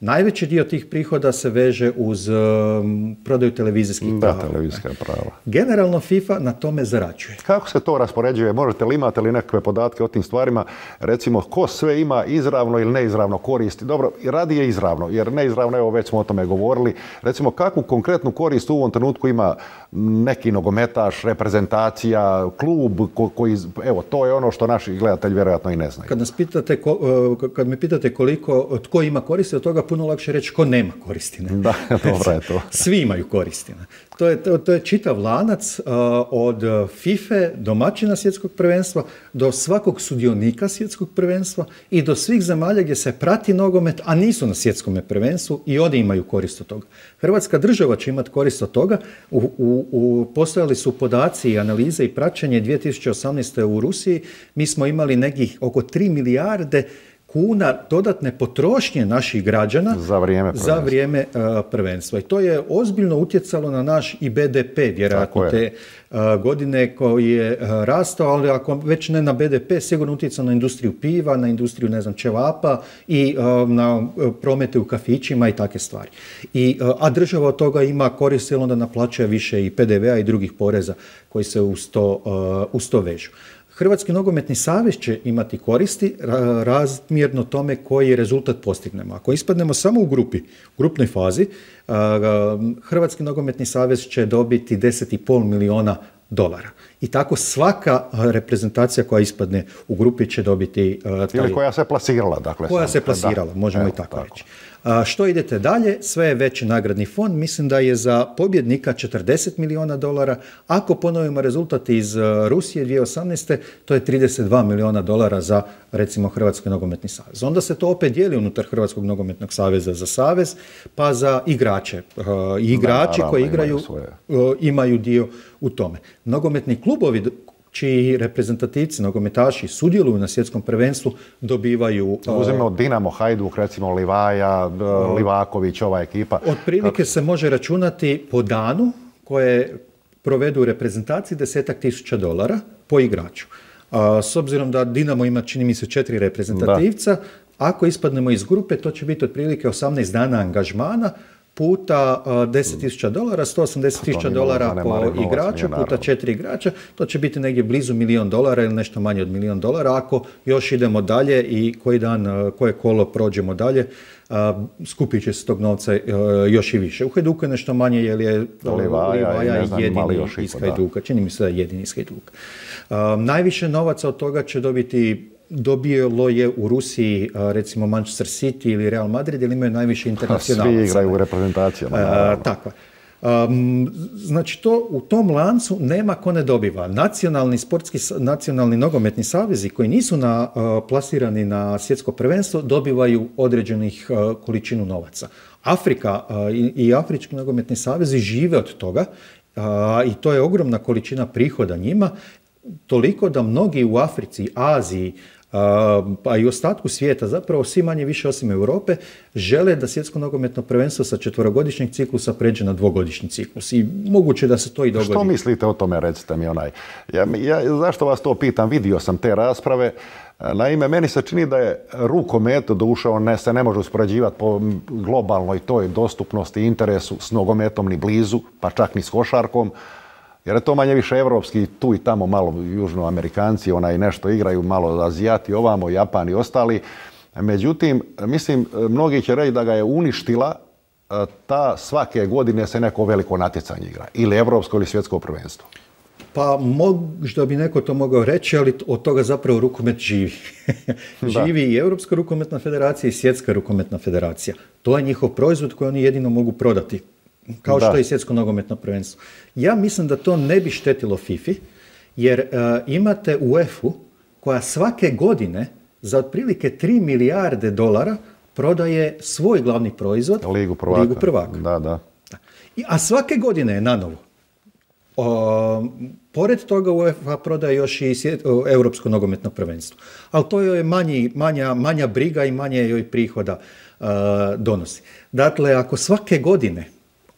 Najveći dio tih prihoda se veže uz um, prodaju televizijskih prava. Da, televizijska prava. Generalno FIFA na tome zarađuje. Kako se to raspoređuje? Možete li imate li nekakve podatke o tim stvarima? Recimo, ko sve ima izravno ili neizravno koristi? Dobro, radi je izravno, jer neizravno, evo već smo o tome govorili. Recimo, kakvu konkretnu korist u ovom trenutku ima neki nogometaš, reprezentacija, klub ko, koji, evo, to je ono što naši gledatelji vjerojatno i ne znaju. Kad nas pitate, ko, kad me pitate koliko, tko ima koristi, od toga puno lakše reći ko nema koristi. Ne? Da, dobro je to. Svi imaju koristi. Ne? To je, to, to je čitav lanac uh, od FIFA domaćina svjetskog prvenstva do svakog sudionika svjetskog prvenstva i do svih zemalja gdje se prati nogomet, a nisu na svjetskom prvenstvu i oni imaju korist od toga. Hrvatska država će imati korist od toga. U, u, u, postojali su podaci i analize i praćenje dvije tisuće osamnaeste. u Rusiji. Mi smo imali nekih oko tri milijarde kuna dodatne potrošnje naših građana za vrijeme prvenstva. Za vrijeme uh, prvenstva. I to je ozbiljno utjecalo na naš i be de pe, vjerojatno te uh, godine koji je uh, rastao, ali ako već ne na be de pe, sigurno utjecalo na industriju piva, na industriju, ne znam, ćevapa i uh, na uh, promete u kafićima i takve stvari. I, uh, a država od toga ima korist, jer onda naplaćuje više i pe de vea i drugih poreza koji se uz to, uh, uz to vežu. Hrvatski nogometni savez će imati koristi razmjerno tome koji rezultat postignemo. Ako ispadnemo samo u grupi, u grupnoj fazi, Hrvatski nogometni savez će dobiti deset i pol milijuna dolara. I tako svaka reprezentacija koja ispadne u grupi će dobiti... Taj, ili koja se plasirala. Dakle, koja sam, se plasirala, da, možemo evo, i tako, tako reći. A, što idete dalje? Sve je veći nagradni fond. Mislim da je za pobjednika četrdeset milijuna dolara. Ako ponovimo rezultat iz Rusije dvije tisuće osamnaeste. to je trideset dva milijuna dolara za, recimo, Hrvatski nogometni savez. Onda se to opet dijeli unutar Hrvatskog nogometnog saveza za savez, pa za igrače. Uh, igrači da, koji igraju imaju, imaju dio u tome. Nogometni klubovi čiji reprezentativci, nogometaši sudjeluju na svjetskom prvenstvu, dobivaju... Uzmemo Dinamo, Hajduk, recimo Livaja, Livaković, ova ekipa. Otprilike se može računati po danu koje provedu u reprezentaciji desetak tisuća dolara po igraču. A, s obzirom da Dinamo ima, čini mi se, četiri reprezentativca, da. Ako ispadnemo iz grupe, to će biti otprilike osamnaest dana angažmana, puta deset tisuća dolara, sto osamdeset tisuća dolara po igraču, puta četiri igrača, to će biti negdje blizu milijon dolara ili nešto manje od milijon dolara. Ako još idemo dalje i koji dan, koje kolo prođemo dalje, skupit će se tog novca još i više. U Hajduku je nešto manje jer je Livaja jedini iz Hajduka. Čini mi se da je jedini iz Hajduka. Najviše novaca od toga će dobiti dobilo je u Rusiji, recimo Manchester City ili Real Madrid, jer imaju najviše internacionalaca. Svi igraju u reprezentacijama. Uh, tako. Um, znači, to, u tom lancu nema ko ne dobiva. Nacionalni sportski, nacionalni nogometni savezi koji nisu na, uh, plasirani na svjetsko prvenstvo dobivaju određenih uh, količinu novaca. Afrika uh, i, i afrički nogometni savezi žive od toga uh, i to je ogromna količina prihoda njima, toliko da mnogi u Africi, Aziji, pa i u ostatku svijeta, zapravo svi manje više osim Europe, žele da svjetsko nogometno prvenstvo sa četverogodišnjeg ciklusa pređe na dvogodišnji ciklus. I moguće da se to i dogodi. Što mislite o tome, recite mi onaj? Ja, ja, zašto vas to pitam? Vidio sam te rasprave. Naime, meni se čini da je rukomet, doduše on ne, se ne može uspoređivati po globalnoj toj dostupnosti i interesu s nogometom ni blizu, pa čak ni s košarkom. Jer je to manje više evropski, tu i tamo malo južnoamerikanci, onaj nešto igraju, malo Azijati ovamo, Japan i ostali. Međutim, mislim, mnogi će reći da ga je uništila ta svake godine se neko veliko natjecanje igra. Ili evropsko ili svjetsko prvenstvo. Pa možda bi neko to mogao reći, ali od toga zapravo rukomet živi. Živi i Europska rukometna federacija i Svjetska rukometna federacija. To je njihov proizvod koji oni jedino mogu prodati. Kao što je i svjetsko nogometno prvenstvo. Ja mislim da to ne bi štetilo FIFA, jer uh, imate UEFA koja svake godine za otprilike tri milijarde dolara prodaje svoj glavni proizvod, Ligu prvaka. Ligu prvaka. Da, da. I, a svake godine je nanovo. O, pored toga UEFA prodaje još i svjet, o, Europsko nogometno prvenstvo. Ali to joj je manji, manja, manja briga i manje joj prihoda uh, donosi. Dakle, ako svake godine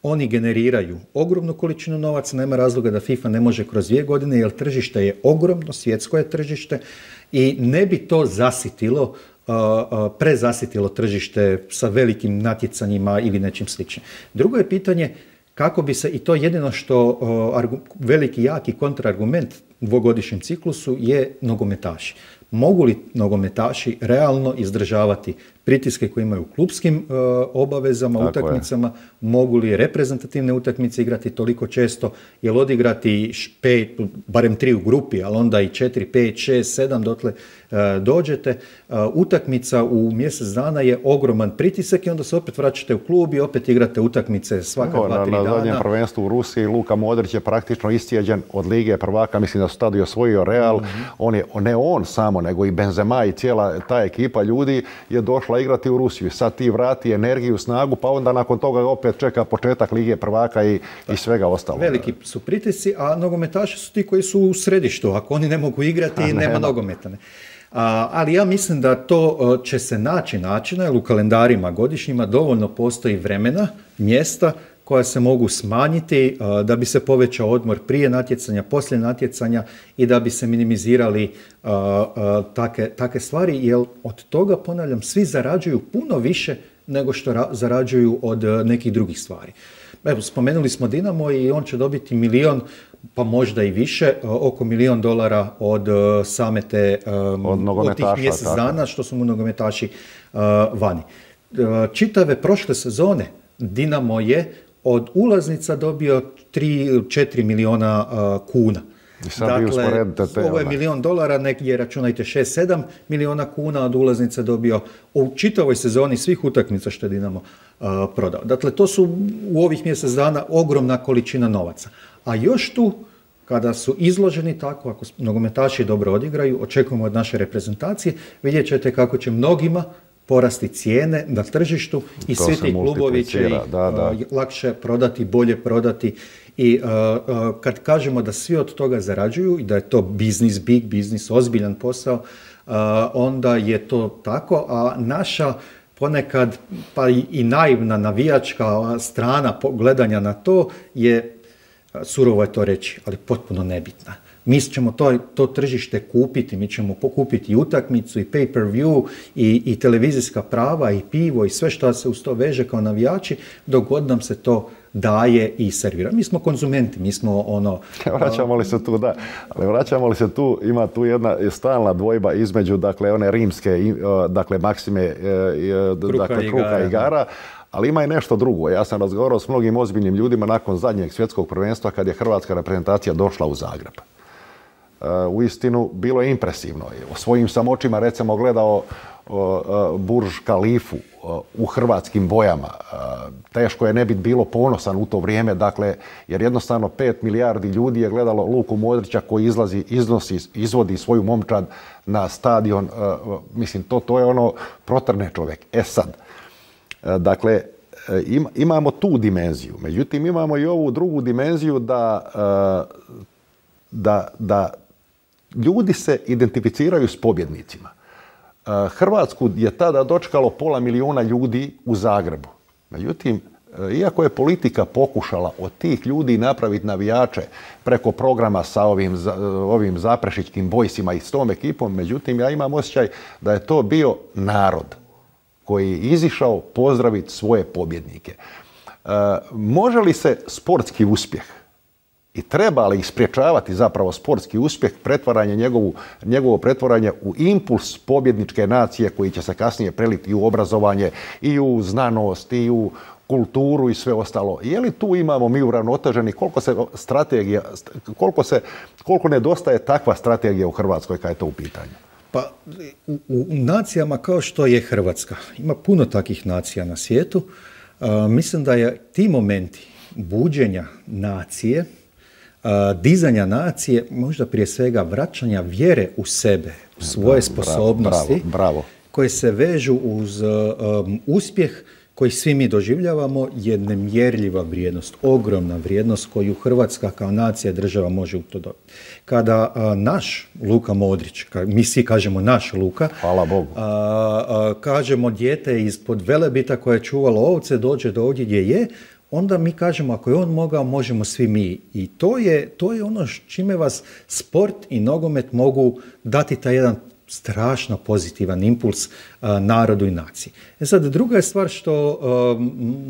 oni generiraju ogromnu količinu novaca, nema razloga da FIFA ne može kroz dvije godine, jer tržište je ogromno, svjetsko je tržište i ne bi to zasitilo, uh, uh, prezasitilo tržište sa velikim natjecanjima ili nečim sličnim. Drugo je pitanje kako bi se, i to jedino što uh, argu, veliki, jaki kontraargument dvogodišnjem ciklusu je nogometaši. Mogu li nogometaši realno izdržavati pritiske koje imaju u klupskim uh, obavezama, tako utakmicama, je. Mogu li reprezentativne utakmice igrati toliko često, jer odigrati pet, barem tri u grupi, ali onda i četiri, pet, šest, sedam dotle uh, dođete. Uh, utakmica u mjesec dana je ogroman pritisak i onda se opet vraćate u klub i opet igrate utakmice svaka no, dva, tri dana. Na zadnjem prvenstvu u Rusiji Luka Modrić je praktično iscijeđen od Lige prvaka, mislim da su tada i osvojio Real. Mm-hmm. On je, ne on samo, nego i Benzema i cijela ta ekipa ljudi je došla igrati u Rusiju. Sad ti vrati energiju, snagu, pa onda nakon toga opet čeka početak Lige prvaka i, i svega ostalo. Veliki su pritisci, a nogometaši su ti koji su u središtu. Ako oni ne mogu igrati, nema, nema nogometa. Ne. A, ali ja mislim da to će se naći načina, jer u kalendarima godišnjima dovoljno postoji vremena, mjesta koja se mogu smanjiti a, da bi se povećao odmor prije natjecanja, poslije natjecanja i da bi se minimizirali a, a, take, take stvari, jer od toga, ponavljam, svi zarađuju puno više nego što ra- zarađuju od a, nekih drugih stvari. Evo, spomenuli smo Dinamo i on će dobiti milion, pa možda i više, oko milion dolara od uh, same te um, od, od tih mjesec dana što su mu nogometaši uh, vani. Uh, čitave prošle sezone Dinamo je od ulaznica dobio tri četiri miliona uh, kuna. Dakle, ovo je milion dolara, negdje računajte šest sedam miliona kuna od ulaznica dobio u čitavoj sezoni svih utakmica što je Dinamo uh, prodao. Dakle, to su u ovih mjesec dana ogromna količina novaca. A još tu, kada su izloženi tako, ako nogometaši dobro odigraju, očekujemo od naše reprezentacije, vidjet ćete kako će mnogima porasti cijene na tržištu i To svi se ti klubovi će ih da, da. uh, lakše prodati, bolje prodati. I uh, uh, kad kažemo da svi od toga zarađuju i da je to biznis, big biznis, ozbiljan posao, uh, onda je to tako, a naša ponekad pa i, i naivna navijačka strana gledanja na to je, surovo je to reći, ali potpuno nebitna. Mi ćemo to, to tržište kupiti, mi ćemo pokupiti i utakmicu, i pay-per-view, i, i televizijska prava, i pivo, i sve što se uz to veže kao navijači, dok god nam se to daje i servira. Mi smo konzumenti, mi smo ono... Vraćamo li se tu, da, ali vraćamo li se tu, ima tu jedna stalna dvojba između, dakle, one rimske, dakle, maksime, kruha, dakle, i kruha igara. i igara, ali ima i nešto drugo. Ja sam razgovarao s mnogim ozbiljnim ljudima nakon zadnjeg svjetskog prvenstva kad je hrvatska reprezentacija došla u Zagreb. U istinu, bilo je impresivno. O svojim sam očima, recimo, gledao Burž Kalifu u hrvatskim bojama. Teško je ne biti bilo ponosan u to vrijeme, dakle, jer jednostavno pet milijardi ljudi je gledalo Luku Modrića koji izlazi, iznosi, izvodi svoju momčad na stadion. Mislim, to, to je ono, protrne čovjek. E sad, dakle, imamo tu dimenziju. Međutim, imamo i ovu drugu dimenziju da, da, da ljudi se identificiraju s pobjednicima. Hrvatsku je tada dočekalo pola milijuna ljudi u Zagrebu. Međutim, iako je politika pokušala od tih ljudi napraviti navijače preko programa sa ovim, ovim zaprešićkim bojsima i s tom ekipom, međutim, ja imam osjećaj da je to bio narod koji je izišao pozdraviti svoje pobjednike. Može li se sportski uspjeh i treba li ih spriječavati zapravo sportski uspjeh, pretvaranje njegovu, njegovo pretvaranje u impuls pobjedničke nacije koji će se kasnije preliti i u obrazovanje, i u znanost, i u kulturu i sve ostalo. Je li tu imamo mi uravnoteženi, koliko se strategija, koliko, se, koliko nedostaje takva strategija u Hrvatskoj kad je to u pitanju? Pa u, u nacijama kao što je Hrvatska, ima puno takvih nacija na svijetu, uh, mislim da je ti momenti buđenja nacije, Uh, dizanja nacije, možda prije svega vraćanja vjere u sebe, u svoje da, sposobnosti, bravo, bravo. koje se vežu uz um, uspjeh koji svi mi doživljavamo, je nemjerljiva vrijednost, ogromna vrijednost koju Hrvatska kao nacija država može u to dobiti. Kada uh, naš Luka Modrić, ka, mi svi kažemo naš Luka, hvala Bogu, uh, uh, kažemo dijete ispod Velebita koje je čuvalo ovce, dođe do ovdje gdje je, onda mi kažemo ako je on mogao, možemo svi mi. I to je, to je ono čime vas sport i nogomet mogu dati taj jedan strašno pozitivan impuls uh, narodu i naciji. E sad, druga je stvar što uh,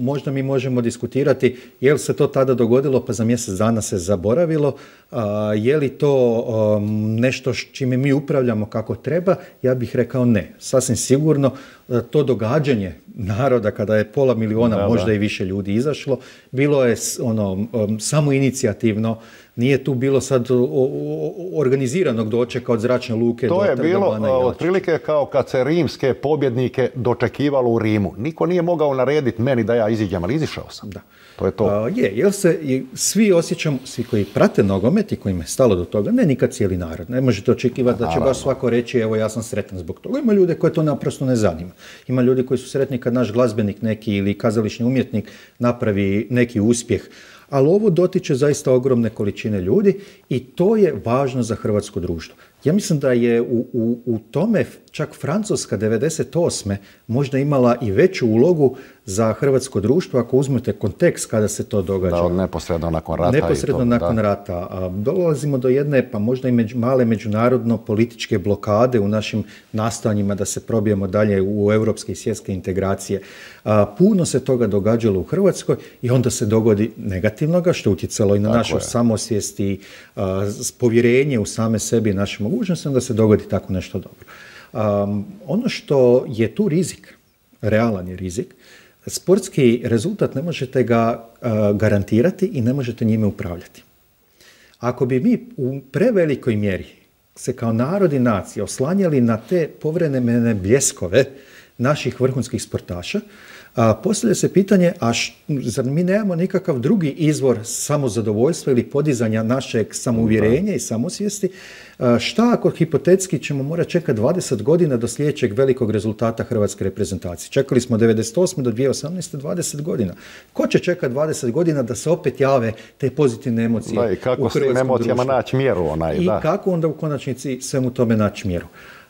možda mi možemo diskutirati, je li se to tada dogodilo pa za mjesec dana se zaboravilo, uh, je li to um, nešto čime mi upravljamo kako treba, ja bih rekao ne. Sasvim sigurno uh, to događanje naroda kada je pola miliona, da, možda da. i više ljudi izašlo, bilo je ono, um, samo inicijativno. Nije tu bilo sad o, o, organiziranog dočeka od zračne luke to do je bilo otprilike kao kad se rimske pobjednike dočekivalo u Rimu. Niko nije mogao narediti meni da ja iziđem, ali izišao sam. Da. To je to. A, je, jer se svi osjećamo, svi koji prate nogomet i kojima je stalo do toga, ne nikad cijeli narod. Ne možete očekivati da će baš svako reći evo ja sam sretan zbog toga. Ima ljude koje to naprosto ne zanima. Ima ljudi koji su sretni kad naš glazbenik neki ili kazališni umjetnik napravi neki uspjeh. Ali ovo dotiče zaista ogromne količine ljudi i to je važno za hrvatsko društvo. Ja mislim da je u, u, u tome čak Francuska devedeset osme možda imala i veću ulogu za hrvatsko društvo ako uzmete kontekst kada se to događa. Da, neposredno nakon rata. Neposredno i to, nakon da. rata. A dolazimo do jedne, pa možda i među, male međunarodno političke blokade u našim nastojanjima da se probijemo dalje u europske i svjetske integracije. A, puno se toga događalo u Hrvatskoj i onda se dogodi negativnoga, što je utjecalo i na Tako našu je. samosvijest i a, povjerenje u same sebi i naše mogućnosti, onda se dogodi tako nešto dobro. Um, ono što je tu rizik, realan je rizik, sportski rezultat ne možete ga uh, garantirati i ne možete njime upravljati. Ako bi mi u prevelikoj mjeri se kao narod i nacija oslanjali na te povremene bljeskove naših vrhunskih sportaša, A postavlja se pitanje, a š, zar mi nemamo nikakav drugi izvor samozadovoljstva ili podizanja našeg samouvjerenja i samosvijesti? A šta ako hipotetski ćemo morati čekati dvadeset godina do sljedećeg velikog rezultata hrvatske reprezentacije? Čekali smo devedeset osme do dvije tisuće osamnaeste dvadeset godina. Ko će čekati dvadeset godina da se opet jave te pozitivne emocije da, i kako u hrvatskom društvu? emocijama naći mjeru onaj, I da. kako onda u konačnici svemu tome naći mjeru?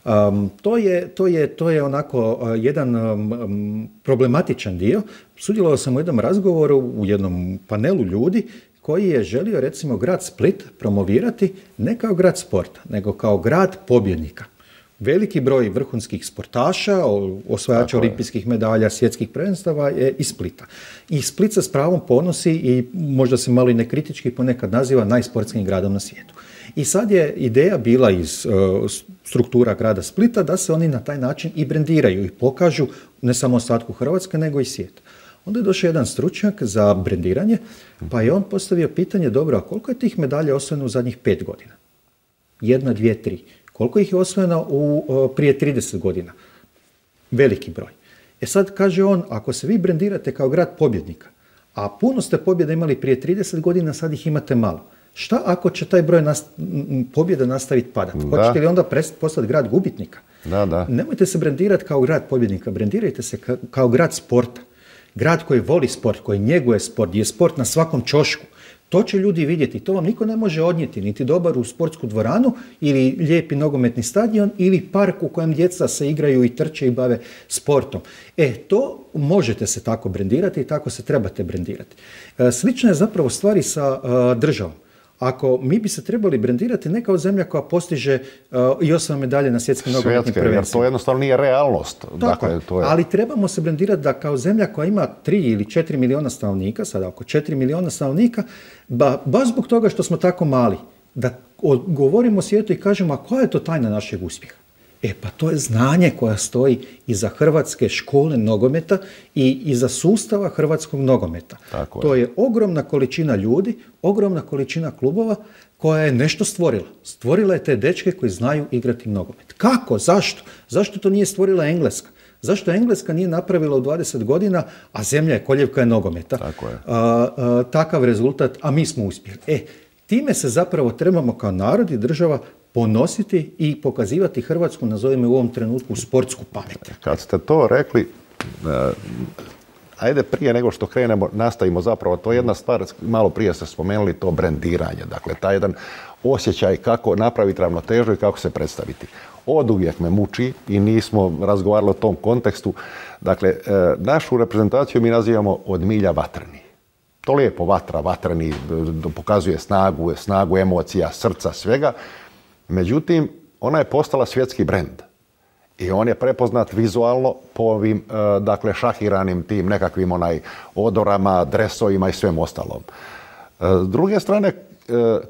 Um, to, je, to, je, to je onako uh, jedan um, problematičan dio. Sudjelovao sam u jednom razgovoru, u jednom panelu ljudi koji je želio recimo grad Split promovirati ne kao grad sporta, nego kao grad pobjednika. Veliki broj vrhunskih sportaša, osvajača olimpijskih medalja, svjetskih prvenstava je iz Splita. I Split se s pravom ponosi i možda se malo i nekritički ponekad naziva najsportskijim gradom na svijetu. I sad je ideja bila iz uh, struktura grada Splita da se oni na taj način i brendiraju i pokažu ne samo ostatku Hrvatske nego i svijeta. Onda je došao jedan stručnjak za brendiranje, pa je on postavio pitanje, dobro, a koliko je tih medalja osvojeno u zadnjih pet godina? Jedna, dvije, tri. Koliko ih je osvojeno u, uh, prije trideset godina? Veliki broj. E sad kaže on, ako se vi brendirate kao grad pobjednika, a puno ste pobjeda imali prije trideset godina, sad ih imate malo. Šta ako će taj broj nast- pobjeda nastaviti padati? Hoćete li onda postati grad gubitnika? Da, da. Nemojte se brendirati kao grad pobjednika, brendirajte se ka- kao grad sporta. Grad koji voli sport, koji njeguje sport, gdje je sport na svakom ćošku. To će ljudi vidjeti, to vam niko ne može odnijeti, niti dobar u sportsku dvoranu ili lijepi nogometni stadion ili park u kojem djeca se igraju i trče i bave sportom. E, to možete se tako brendirati i tako se trebate brendirati. E, slična je zapravo stvari sa uh, državom. Ako mi bi se trebali brendirati ne kao zemlja koja postiže uh, i osam medalje na svjetskim nogometnim prvenstvima. Jer to jednostavno nije realnost. Tako, dakle, to je... ali trebamo se brendirati da kao zemlja koja ima tri ili četiri miliona stanovnika, sada oko četiri miliona stanovnika, ba, baš zbog toga što smo tako mali, da govorimo svijetu i kažemo, a koja je to tajna našeg uspjeha? E pa to je znanje koja stoji iza hrvatske škole nogometa i iza sustava hrvatskog nogometa. Tako je. To je ogromna količina ljudi, ogromna količina klubova koja je nešto stvorila. Stvorila je te dečke koji znaju igrati nogomet. Kako? Zašto? Zašto to nije stvorila Engleska? Zašto Engleska nije napravila u dvadeset godina, a zemlja je koljevka je nogometa? Tako je. A, a, takav rezultat, a mi smo uspjeli. E, time se zapravo trebamo kao narod i država ponositi i pokazivati Hrvatsku, nazovimo u ovom trenutku, sportsku pamet. Kad ste to rekli, uh, ajde prije nego što krenemo, nastavimo zapravo, to je jedna stvar, malo prije ste spomenuli to brendiranje, dakle taj jedan osjećaj kako napraviti ravnotežu i kako se predstaviti. Oduvijek me muči i nismo razgovarali o tom kontekstu. Dakle, uh, našu reprezentaciju mi nazivamo od milja vatreni. To lijepo vatra, vatreni, pokazuje snagu, snagu emocija, srca, svega. Međutim, ona je postala svjetski brend i on je prepoznat vizualno po ovim, dakle, šahiranim tim nekakvim onaj odorama, dresovima i svem ostalom. S druge strane,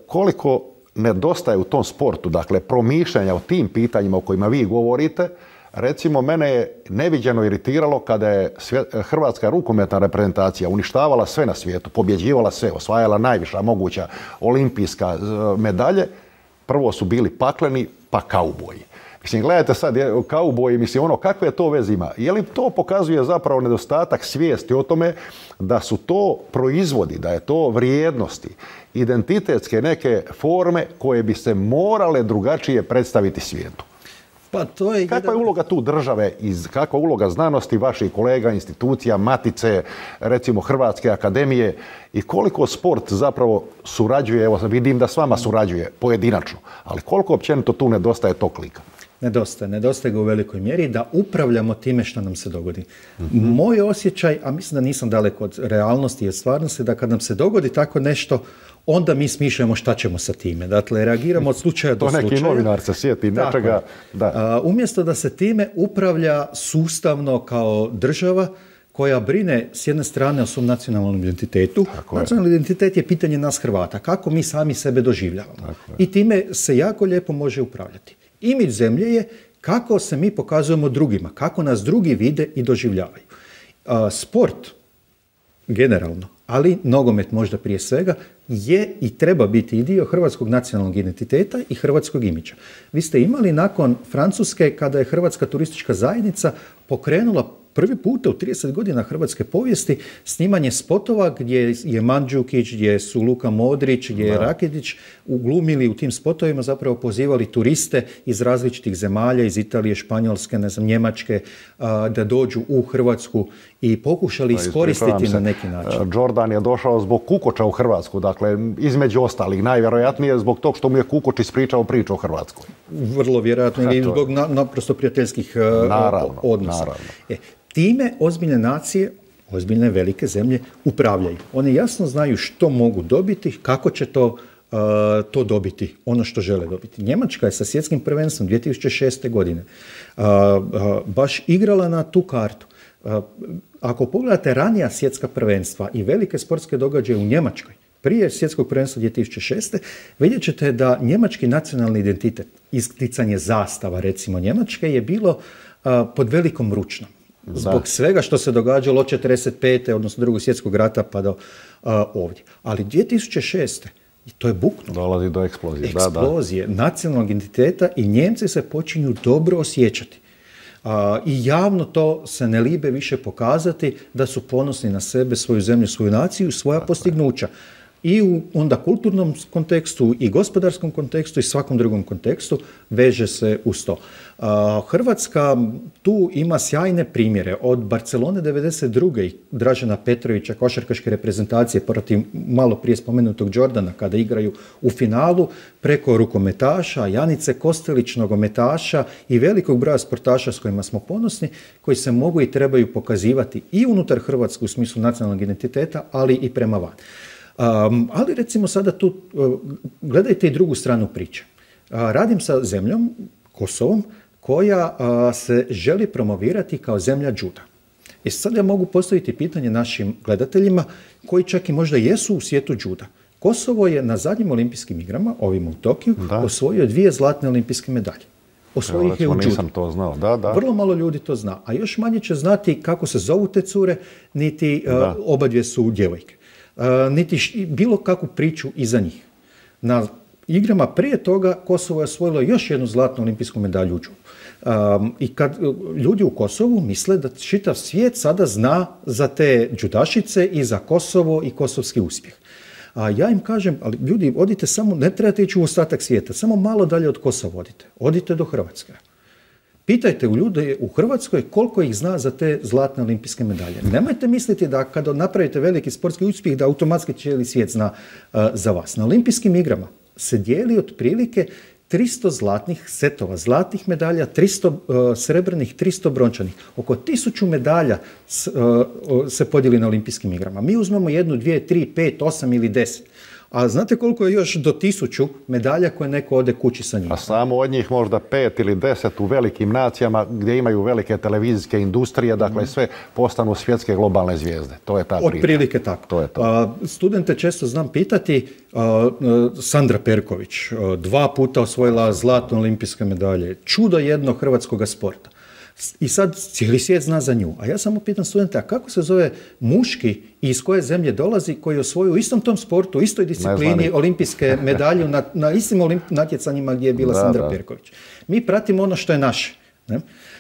koliko nedostaje u tom sportu, dakle, promišljanja o tim pitanjima o kojima vi govorite, recimo, mene je neviđeno iritiralo kada je hrvatska rukometna reprezentacija uništavala sve na svijetu, pobjeđivala sve, osvajala najviša moguća olimpijska medalje. Prvo su bili pakleni, pa kauboji. Mislim, gledajte sad, kauboji, mislim, ono, kakve to veze ima? Je li to pokazuje zapravo nedostatak svijesti o tome da su to proizvodi, da je to vrijednosti, identitetske neke forme koje bi se morale drugačije predstaviti svijetu? Pa to je kakva je uloga tu države, iz, kakva je uloga znanosti, vaših kolega, institucija, matice, recimo Hrvatske akademije i koliko sport zapravo surađuje, evo vidim da s vama surađuje pojedinačno, ali koliko općenito tu nedostaje tog klika? Nedostaje, nedostaje ga u velikoj mjeri da upravljamo time što nam se dogodi. Mm-hmm. Moj osjećaj, a mislim da nisam daleko od realnosti i od stvarnosti, da kad nam se dogodi tako nešto, onda mi smišljamo šta ćemo sa time. Dakle, reagiramo od slučaja do slučaja. To neki novinar se sjeti nečega. Da. A, umjesto da se time upravlja sustavno kao država koja brine s jedne strane o svom nacionalnom identitetu. Nacionalni identitet je pitanje nas Hrvata. Kako mi sami sebe doživljavamo. I time se jako lijepo može upravljati. Imidž zemlje je kako se mi pokazujemo drugima, kako nas drugi vide i doživljavaju. A, sport, generalno, ali nogomet možda prije svega, je i treba biti i dio hrvatskog nacionalnog identiteta i hrvatskog imidža. Vi ste imali nakon Francuske, kada je Hrvatska turistička zajednica pokrenula prvi puta u trideset godina hrvatske povijesti snimanje spotova gdje je Mandžukić, gdje su Luka Modrić, gdje je Rakitić uglumili u tim spotovima, zapravo pozivali turiste iz različitih zemalja, iz Italije, Španjolske, ne znam, Njemačke, a, da dođu u Hrvatsku i pokušali iskoristiti na neki način. Jordan je došao zbog Kukoča u Hrvatsku, dakle, između ostalih, najvjerojatnije zbog tog što mu je Kukoč ispričao priču o Hrvatskoj. Vrlo vjerojatno, i zbog na, naprosto prijateljskih naravno, odnosa. Naravno. E, time ozbiljne nacije, ozbiljne velike zemlje upravljaju. One jasno znaju što mogu dobiti, kako će to, uh, to dobiti, ono što žele dobiti. Njemačka je sa svjetskim prvenstvom dvije tisuće šeste. godine uh, uh, baš igrala na tu kartu. Uh, ako pogledate ranija svjetska prvenstva i velike sportske događaje u Njemačkoj, prije svjetskog prvenstva dvije tisuće šeste. vidjet ćete da njemački nacionalni identitet, isticanje zastava recimo Njemačke, je bilo uh, pod velikom ručnom. Zbog da. svega što se događalo od četrdeset pete odnosno drugog svjetskog rata pa do uh, ovdje. Ali dvije tisuće šeste. i to je buknulo. Dolazi do eksplozije. Eksplozije da, da. nacionalnog identiteta i Njemci se počinju dobro osjećati. Uh, I javno to se ne libe više pokazati da su ponosni na sebe, svoju zemlju, svoju naciju, svoja Tako postignuća. I u onda kulturnom kontekstu i gospodarskom kontekstu i svakom drugom kontekstu veže se uz to. Uh, Hrvatska tu ima sjajne primjere. Od Barcelone devedeset druge i Dražena Petrovića, košarkaške reprezentacije protiv malo prije spomenutog Jordana kada igraju u finalu, preko rukometaša, Janice Kostelić, nogometaša i velikog broja sportaša s kojima smo ponosni, koji se mogu i trebaju pokazivati i unutar Hrvatske u smislu nacionalnog identiteta, ali i prema van. Um, ali recimo sada tu uh, gledajte i drugu stranu priče. Uh, radim sa zemljom, Kosovom, koja uh, se želi promovirati kao zemlja džuda. I sad ja mogu postaviti pitanje našim gledateljima koji čak i možda jesu u svijetu džuda. Kosovo je na zadnjim olimpijskim igrama, ovim u Tokiju, da. osvojio dvije zlatne olimpijske medalje. Osvojio ih je u džudu. Nisam to znao. Da, da. Vrlo malo ljudi to zna. A još manje će znati kako se zovu te cure, niti uh, obadvije su djevojke. Uh, niti š, bilo kakvu priču iza njih. Na igrama prije toga Kosovo je osvojilo još jednu zlatnu olimpijsku medalju u džudu. Um, I kad uh, ljudi u Kosovu misle da čitav svijet sada zna za te džudašice i za Kosovo i kosovski uspjeh. A ja im kažem, ali ljudi, odite samo, ne trebate ići u ostatak svijeta, samo malo dalje od Kosova odite. Odite do Hrvatske. Pitajte u ljude u Hrvatskoj koliko ih zna za te zlatne olimpijske medalje. Nemojte misliti da kada napravite veliki sportski uspjeh da automatski cijeli svijet zna uh, za vas. Na olimpijskim igrama se dijeli otprilike tristo zlatnih setova, zlatnih medalja, tristo uh, srebrnih, tristo brončanih. Oko tisuću medalja s, uh, se podijeli na olimpijskim igrama. Mi uzmemo jednu, dvije, tri, pet, osam ili deset. A znate koliko je još do tisuću medalja koje neko ode kući sa njima? A samo od njih možda pet ili deset u velikim nacijama gdje imaju velike televizijske industrije, dakle sve postanu svjetske globalne zvijezde. To je ta priča. Otprilike tako. To je to. A, studente često znam pitati, a, a, Sandra Perković, a, dva puta osvojila zlatne olimpijske medalje, čudo jednog hrvatskog sporta. I sad cijeli svijet zna za nju. A ja samo pitam studente, a kako se zove muški i iz koje zemlje dolazi koji osvoju u istom tom sportu, u istoj disciplini olimpijske medalje na, na istim olimp, natjecanjima gdje je bila da, Sandra da. Perković. Mi pratimo ono što je naše. Ne?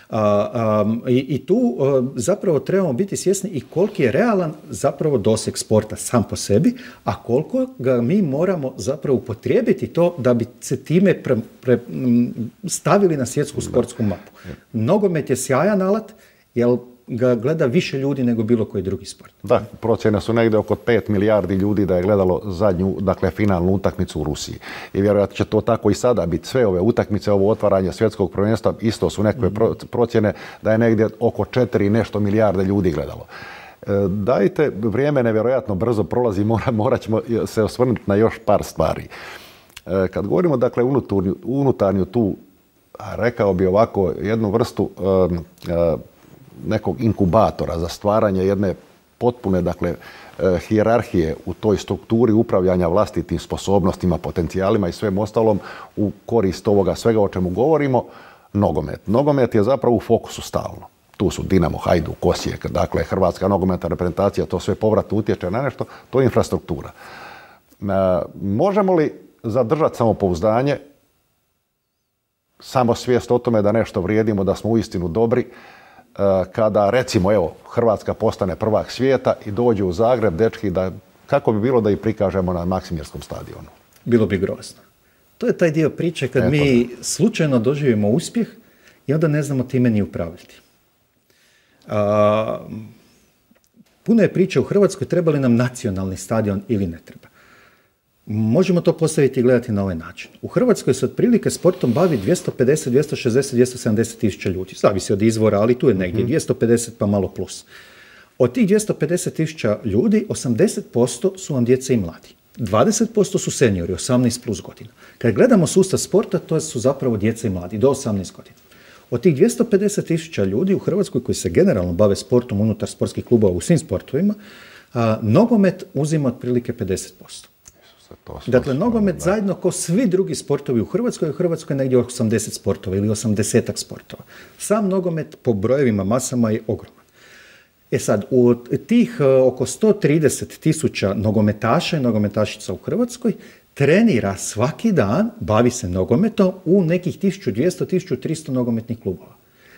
A, a, i, I tu a, zapravo trebamo biti svjesni i koliki je realan zapravo doseg sporta sam po sebi, a koliko ga mi moramo zapravo upotrijebiti to da bi se time pre, pre, stavili na svjetsku sportsku mapu. Nogomet je sjajan alat, jer ga gleda više ljudi nego bilo koji drugi sport. Da, procjene su negdje oko pet milijardi ljudi da je gledalo zadnju, dakle, finalnu utakmicu u Rusiji. I vjerojatno će to tako i sada biti. Sve ove utakmice, ovo otvaranje svjetskog prvenstva, isto su nekakve mm. procjene da je negdje oko četiri nešto milijarde ljudi gledalo. E, dajte, vrijeme nevjerojatno brzo prolazi, mora, morat ćemo se osvrnuti na još par stvari. E, kad govorimo, dakle, unutarnju, unutarnju tu, rekao bi ovako, jednu vrstu e, e, nekog inkubatora za stvaranje jedne potpune, dakle, e, hijerarhije u toj strukturi upravljanja vlastitim sposobnostima, potencijalima i svem ostalom u korist ovoga svega o čemu govorimo, nogomet. Nogomet je zapravo u fokusu stalno. Tu su Dinamo, Hajduk, Osijek, dakle, Hrvatska nogometna reprezentacija, to sve povratno utječe na nešto, to je infrastruktura. E, možemo li zadržati samopouzdanje, samo svijest o tome da nešto vrijedimo, da smo uistinu dobri, kada, recimo, evo, Hrvatska postane prvak svijeta i dođe u Zagreb, dečki, da, kako bi bilo da ih prikažemo na Maksimirskom stadionu? Bilo bi grozno. To je taj dio priče kad Eto, mi da. slučajno doživimo uspjeh i onda ne znamo time ni upravljati. A, puno je priče u Hrvatskoj treba li nam nacionalni stadion ili ne treba. Možemo to postaviti i gledati na ovaj način. U Hrvatskoj se otprilike sportom bavi dvjesto pedeset, dvjesto šezdeset, dvjesto sedamdeset tisuća ljudi. Zavisi od izvora, ali tu je negdje mm-hmm. dvjesto pedeset pa malo plus. Od tih dvjesto pedeset tisuća ljudi, osamdeset posto su vam djeca i mladi. dvadeset posto su seniori, osamnaest plus godina. Kad gledamo sustav sporta, to su zapravo djeca i mladi, do osamnaest godina. Od tih dvjesto pedeset tisuća ljudi u Hrvatskoj koji se generalno bave sportom unutar sportskih klubova u svim sportovima, a, nogomet uzima otprilike pedeset posto. Dakle, nogomet da. zajedno ko svi drugi sportovi u Hrvatskoj, u Hrvatskoj je negdje osamdeset sportova ili osamdesetak sportova. Sam nogomet po brojevima, masama je ogroman. E sad, u tih uh, oko sto trideset tisuća nogometaša i nogometašica u Hrvatskoj trenira svaki dan, bavi se nogometom u nekih tisuću dvjesto do tisuću tristo nogometnih klubova.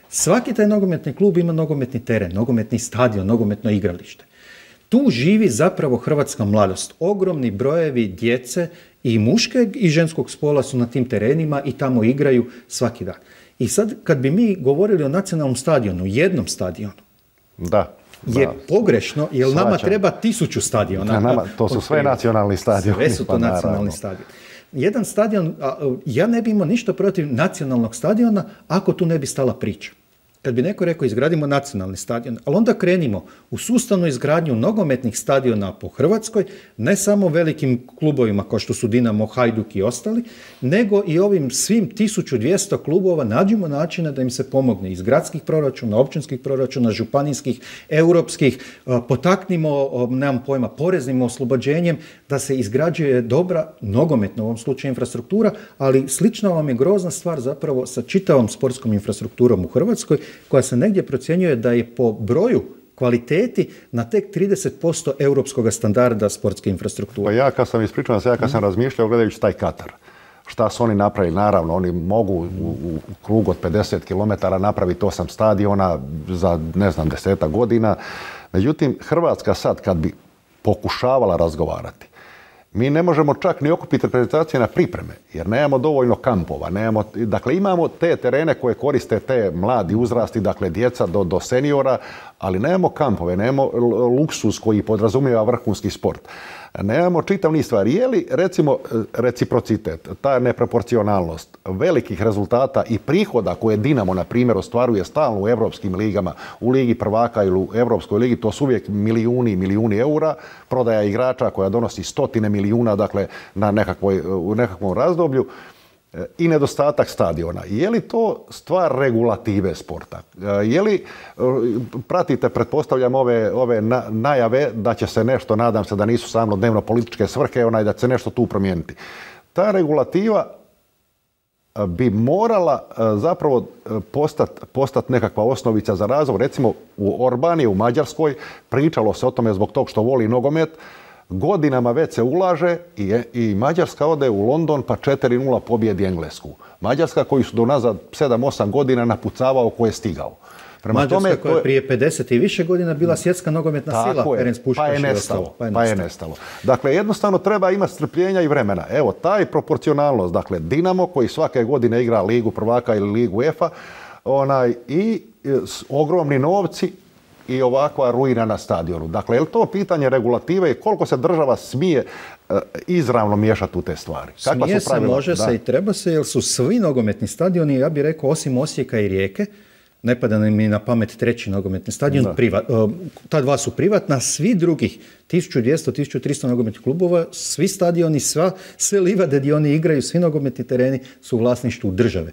Svaki taj nogometni klub ima nogometni teren, nogometni stadion, nogometno igralište. Tu živi zapravo hrvatska mladost. Ogromni brojevi djece i muškog i ženskog spola su na tim terenima i tamo igraju svaki dan. I sad kad bi mi govorili o nacionalnom stadionu, jednom stadionu, da, je da. pogrešno, jer Svačam. nama treba tisuću stadiona. Da, nama, to su sve nacionalni stadioni. Sve su to pa nacionalni stadioni. Jedan stadion, ja ne bi imao ništa protiv nacionalnog stadiona ako tu ne bi stala priča. Kad bi neko rekao izgradimo nacionalni stadion, ali onda krenimo u sustavnu izgradnju nogometnih stadiona po Hrvatskoj, ne samo velikim klubovima kao što su Dinamo, Hajduk i ostali, nego i ovim svim tisuću dvjesto klubova nađemo načine da im se pomogne iz gradskih proračuna, općinskih proračuna, županijskih, europskih, potaknimo, nemam pojma, poreznim oslobođenjem da se izgrađuje dobra nogometna u ovom slučaju infrastruktura, ali slična vam je grozna stvar zapravo sa čitavom sportskom infrastrukturom u Hrvatskoj, koja se negdje procjenjuje da je po broju kvaliteti na tek trideset posto europskog standarda sportske infrastrukture. Pa ja kad sam ispričao se, ja kad sam mm. razmišljao gledajući taj Katar, šta su oni napravili, naravno, oni mogu u, u krugu od pedeset kilometara napraviti osam stadiona za, ne znam, desetak godina. Međutim, Hrvatska sad kad bi pokušavala razgovarati, mi ne možemo čak ni okupiti reprezentacije na pripreme, jer nemamo dovoljno kampova. Nemamo, dakle, imamo te terene koje koriste te mladi uzrasti, dakle, djeca do, do seniora, ali nemamo kampove, nemamo luksus koji podrazumijeva vrhunski sport. Nemamo čitav niz stvari. Je li, recimo, reciprocitet, ta neproporcionalnost velikih rezultata i prihoda koje Dinamo, na primjer, ostvaruje stalno u evropskim ligama, u Ligi prvaka ili u Evropskoj ligi, to su uvijek milijuni i milijuni eura, prodaja igrača koja donosi stotine milijuna, dakle, na nekakvoj, u nekakvom razdoblju, i nedostatak stadiona. Je li to stvar regulative sporta? Je li, pratite, pretpostavljam, ove, ove na, najave da će se nešto, nadam se da nisu samo dnevno političke svrhe, onaj da će se nešto tu promijeniti. Ta regulativa bi morala zapravo postati postat nekakva osnovica za razvoj. Recimo u Orbani, u Mađarskoj, pričalo se o tome zbog tog što voli nogomet, godinama već se ulaže i, i Mađarska ode u London pa četiri nula pobjedi Englesku. Mađarska koju su do nazad sedam osam godina napucavao ko je stigao. Prema Mađarska tome, koja je prije pedeset i više godina bila svjetska nogometna sila. Je, pa je nestalo. Pa je, pa je nestalo. Dakle, jednostavno treba imati strpljenja i vremena. Evo, taj proporcionalnost, dakle, Dinamo koji svake godine igra Ligu prvaka ili Ligu UEFA, onaj, i s, ogromni novci, i ovakva ruina na stadionu. Dakle, je li to pitanje regulative i koliko se država smije uh, izravno miješati u te stvari? Kakva smije su pravila? Se, može da. se i treba se, jer su svi nogometni stadioni, ja bih rekao, osim Osijeka i Rijeke, ne pada mi na pamet treći nogometni stadion, privat, uh, ta dva su privatna, svi drugih tisuću dvjesto do tisuću tristo nogometnih klubova, svi stadioni, sva, sve livade gdje oni igraju, svi nogometni tereni su u vlasništvu države.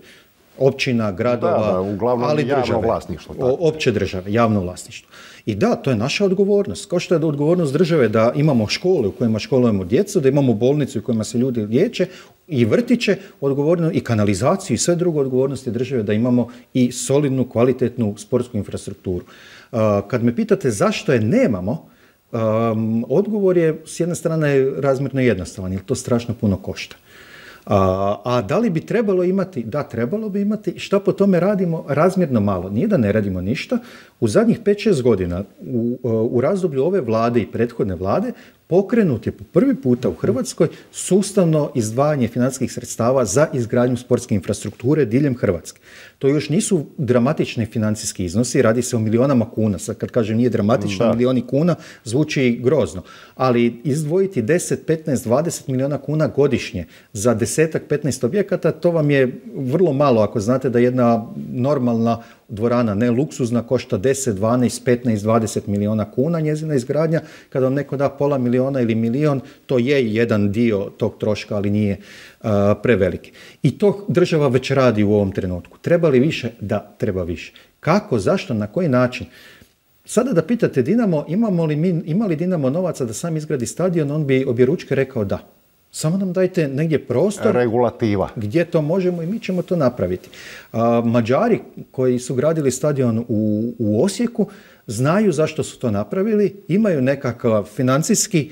Općina, gradova, da, da, uglavnom ali javno države, vlasništvo. Tako. Opće države, javno vlasništvo. I da, to je naša odgovornost. Kao što je odgovornost države da imamo škole u kojima školujemo djecu, da imamo bolnice u kojima se ljudi liječe i vrtiće, odgovorno i kanalizaciju i sve drugo odgovornosti države da imamo i solidnu, kvalitetnu sportsku infrastrukturu. Uh, kad me pitate zašto je nemamo, um, odgovor je s jedne strane razmjerno jednostavan, jer to strašno puno košta. A, a da li bi trebalo imati? Da, trebalo bi imati. Šta po tome radimo? Razmjerno malo. Nije da ne radimo ništa. U zadnjih pet šest godina, u, u razdoblju ove vlade i prethodne vlade, pokrenut je po prvi puta u Hrvatskoj sustavno izdvajanje financijskih sredstava za izgradnju sportske infrastrukture diljem Hrvatske. To još nisu dramatični financijski iznosi, radi se o milionama kuna. Sad kad kažem nije dramatično, da. Milioni kuna zvuči grozno. Ali izdvojiti deset, petnaest, dvadeset miliona kuna godišnje za desetak, petnaest objekata, to vam je vrlo malo ako znate da jedna normalna dvorana, ne luksuzna, košta deset, dvanaest, petnaest, dvadeset miliona kuna njezina izgradnja. Kada vam neko da pola miliona ili milion, to je jedan dio tog troška, ali nije uh, preveliki. I to država već radi u ovom trenutku. Treba li više? Da, treba više. Kako, zašto, na koji način? Sada da pitate Dinamo, imamo li mi, ima li Dinamo novaca da sam izgradi stadion, on bi objeručke rekao da. Samo nam dajte negdje prostor, regulativa, gdje to možemo i mi ćemo to napraviti. A, Mađari koji su gradili stadion u, u Osijeku znaju zašto su to napravili, imaju nekakav financijski,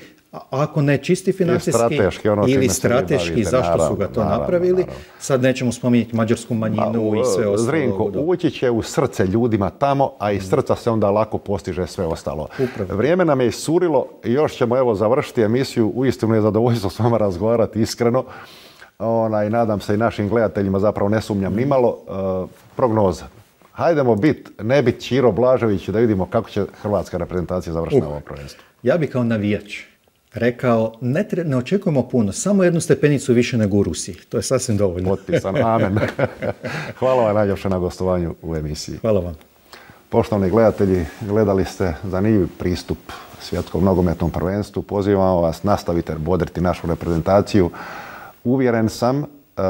ako ne čisti financijski strateški, ono ili strateški, bavite, zašto naravno, su ga to naravno, napravili. Naravno. Sad nećemo spominjati mađarsku manjinu a, i sve ostalo. Zrinko, ući će u srce ljudima tamo, a iz srca se onda lako postiže sve ostalo. Upravo. Vrijeme nam je iscurilo i još ćemo evo završiti emisiju. Uistinu je zadovoljstvo s vama razgovarati iskreno. Ona, i nadam se i našim gledateljima, zapravo ne sumnjam nimalo. Uh, prognoza. Hajdemo bit, ne bit Ćiro Blažević, da vidimo kako će hrvatska reprezentacija završiti uh, na ovom prvenstvu. Ja bih kao navijač rekao, ne, tre, ne očekujemo puno, samo jednu stepenicu više nego u Rusiji. To je sasvim dovoljno. Potpisan, amen. Hvala vam najljepše na gostovanju u emisiji. Hvala vam. Poštovani gledatelji, gledali ste zanimljiv pristup svjetskom nogometnom prvenstvu. Pozivamo vas, nastavite bodriti našu reprezentaciju. Uvjeren sam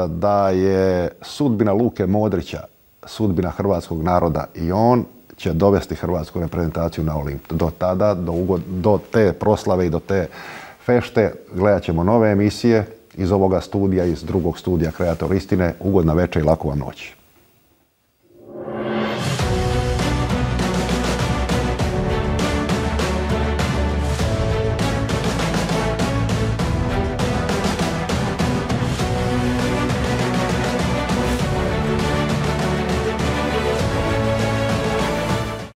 da je sudbina Luke Modrića, sudbina hrvatskog naroda i on će dovesti hrvatsku reprezentaciju na Olimp. Do tada, do, ugod, do te proslave i do te fešte gledat ćemo nove emisije iz ovoga studija, iz drugog studija Kreator istine. Ugodna večer i laku vam noć.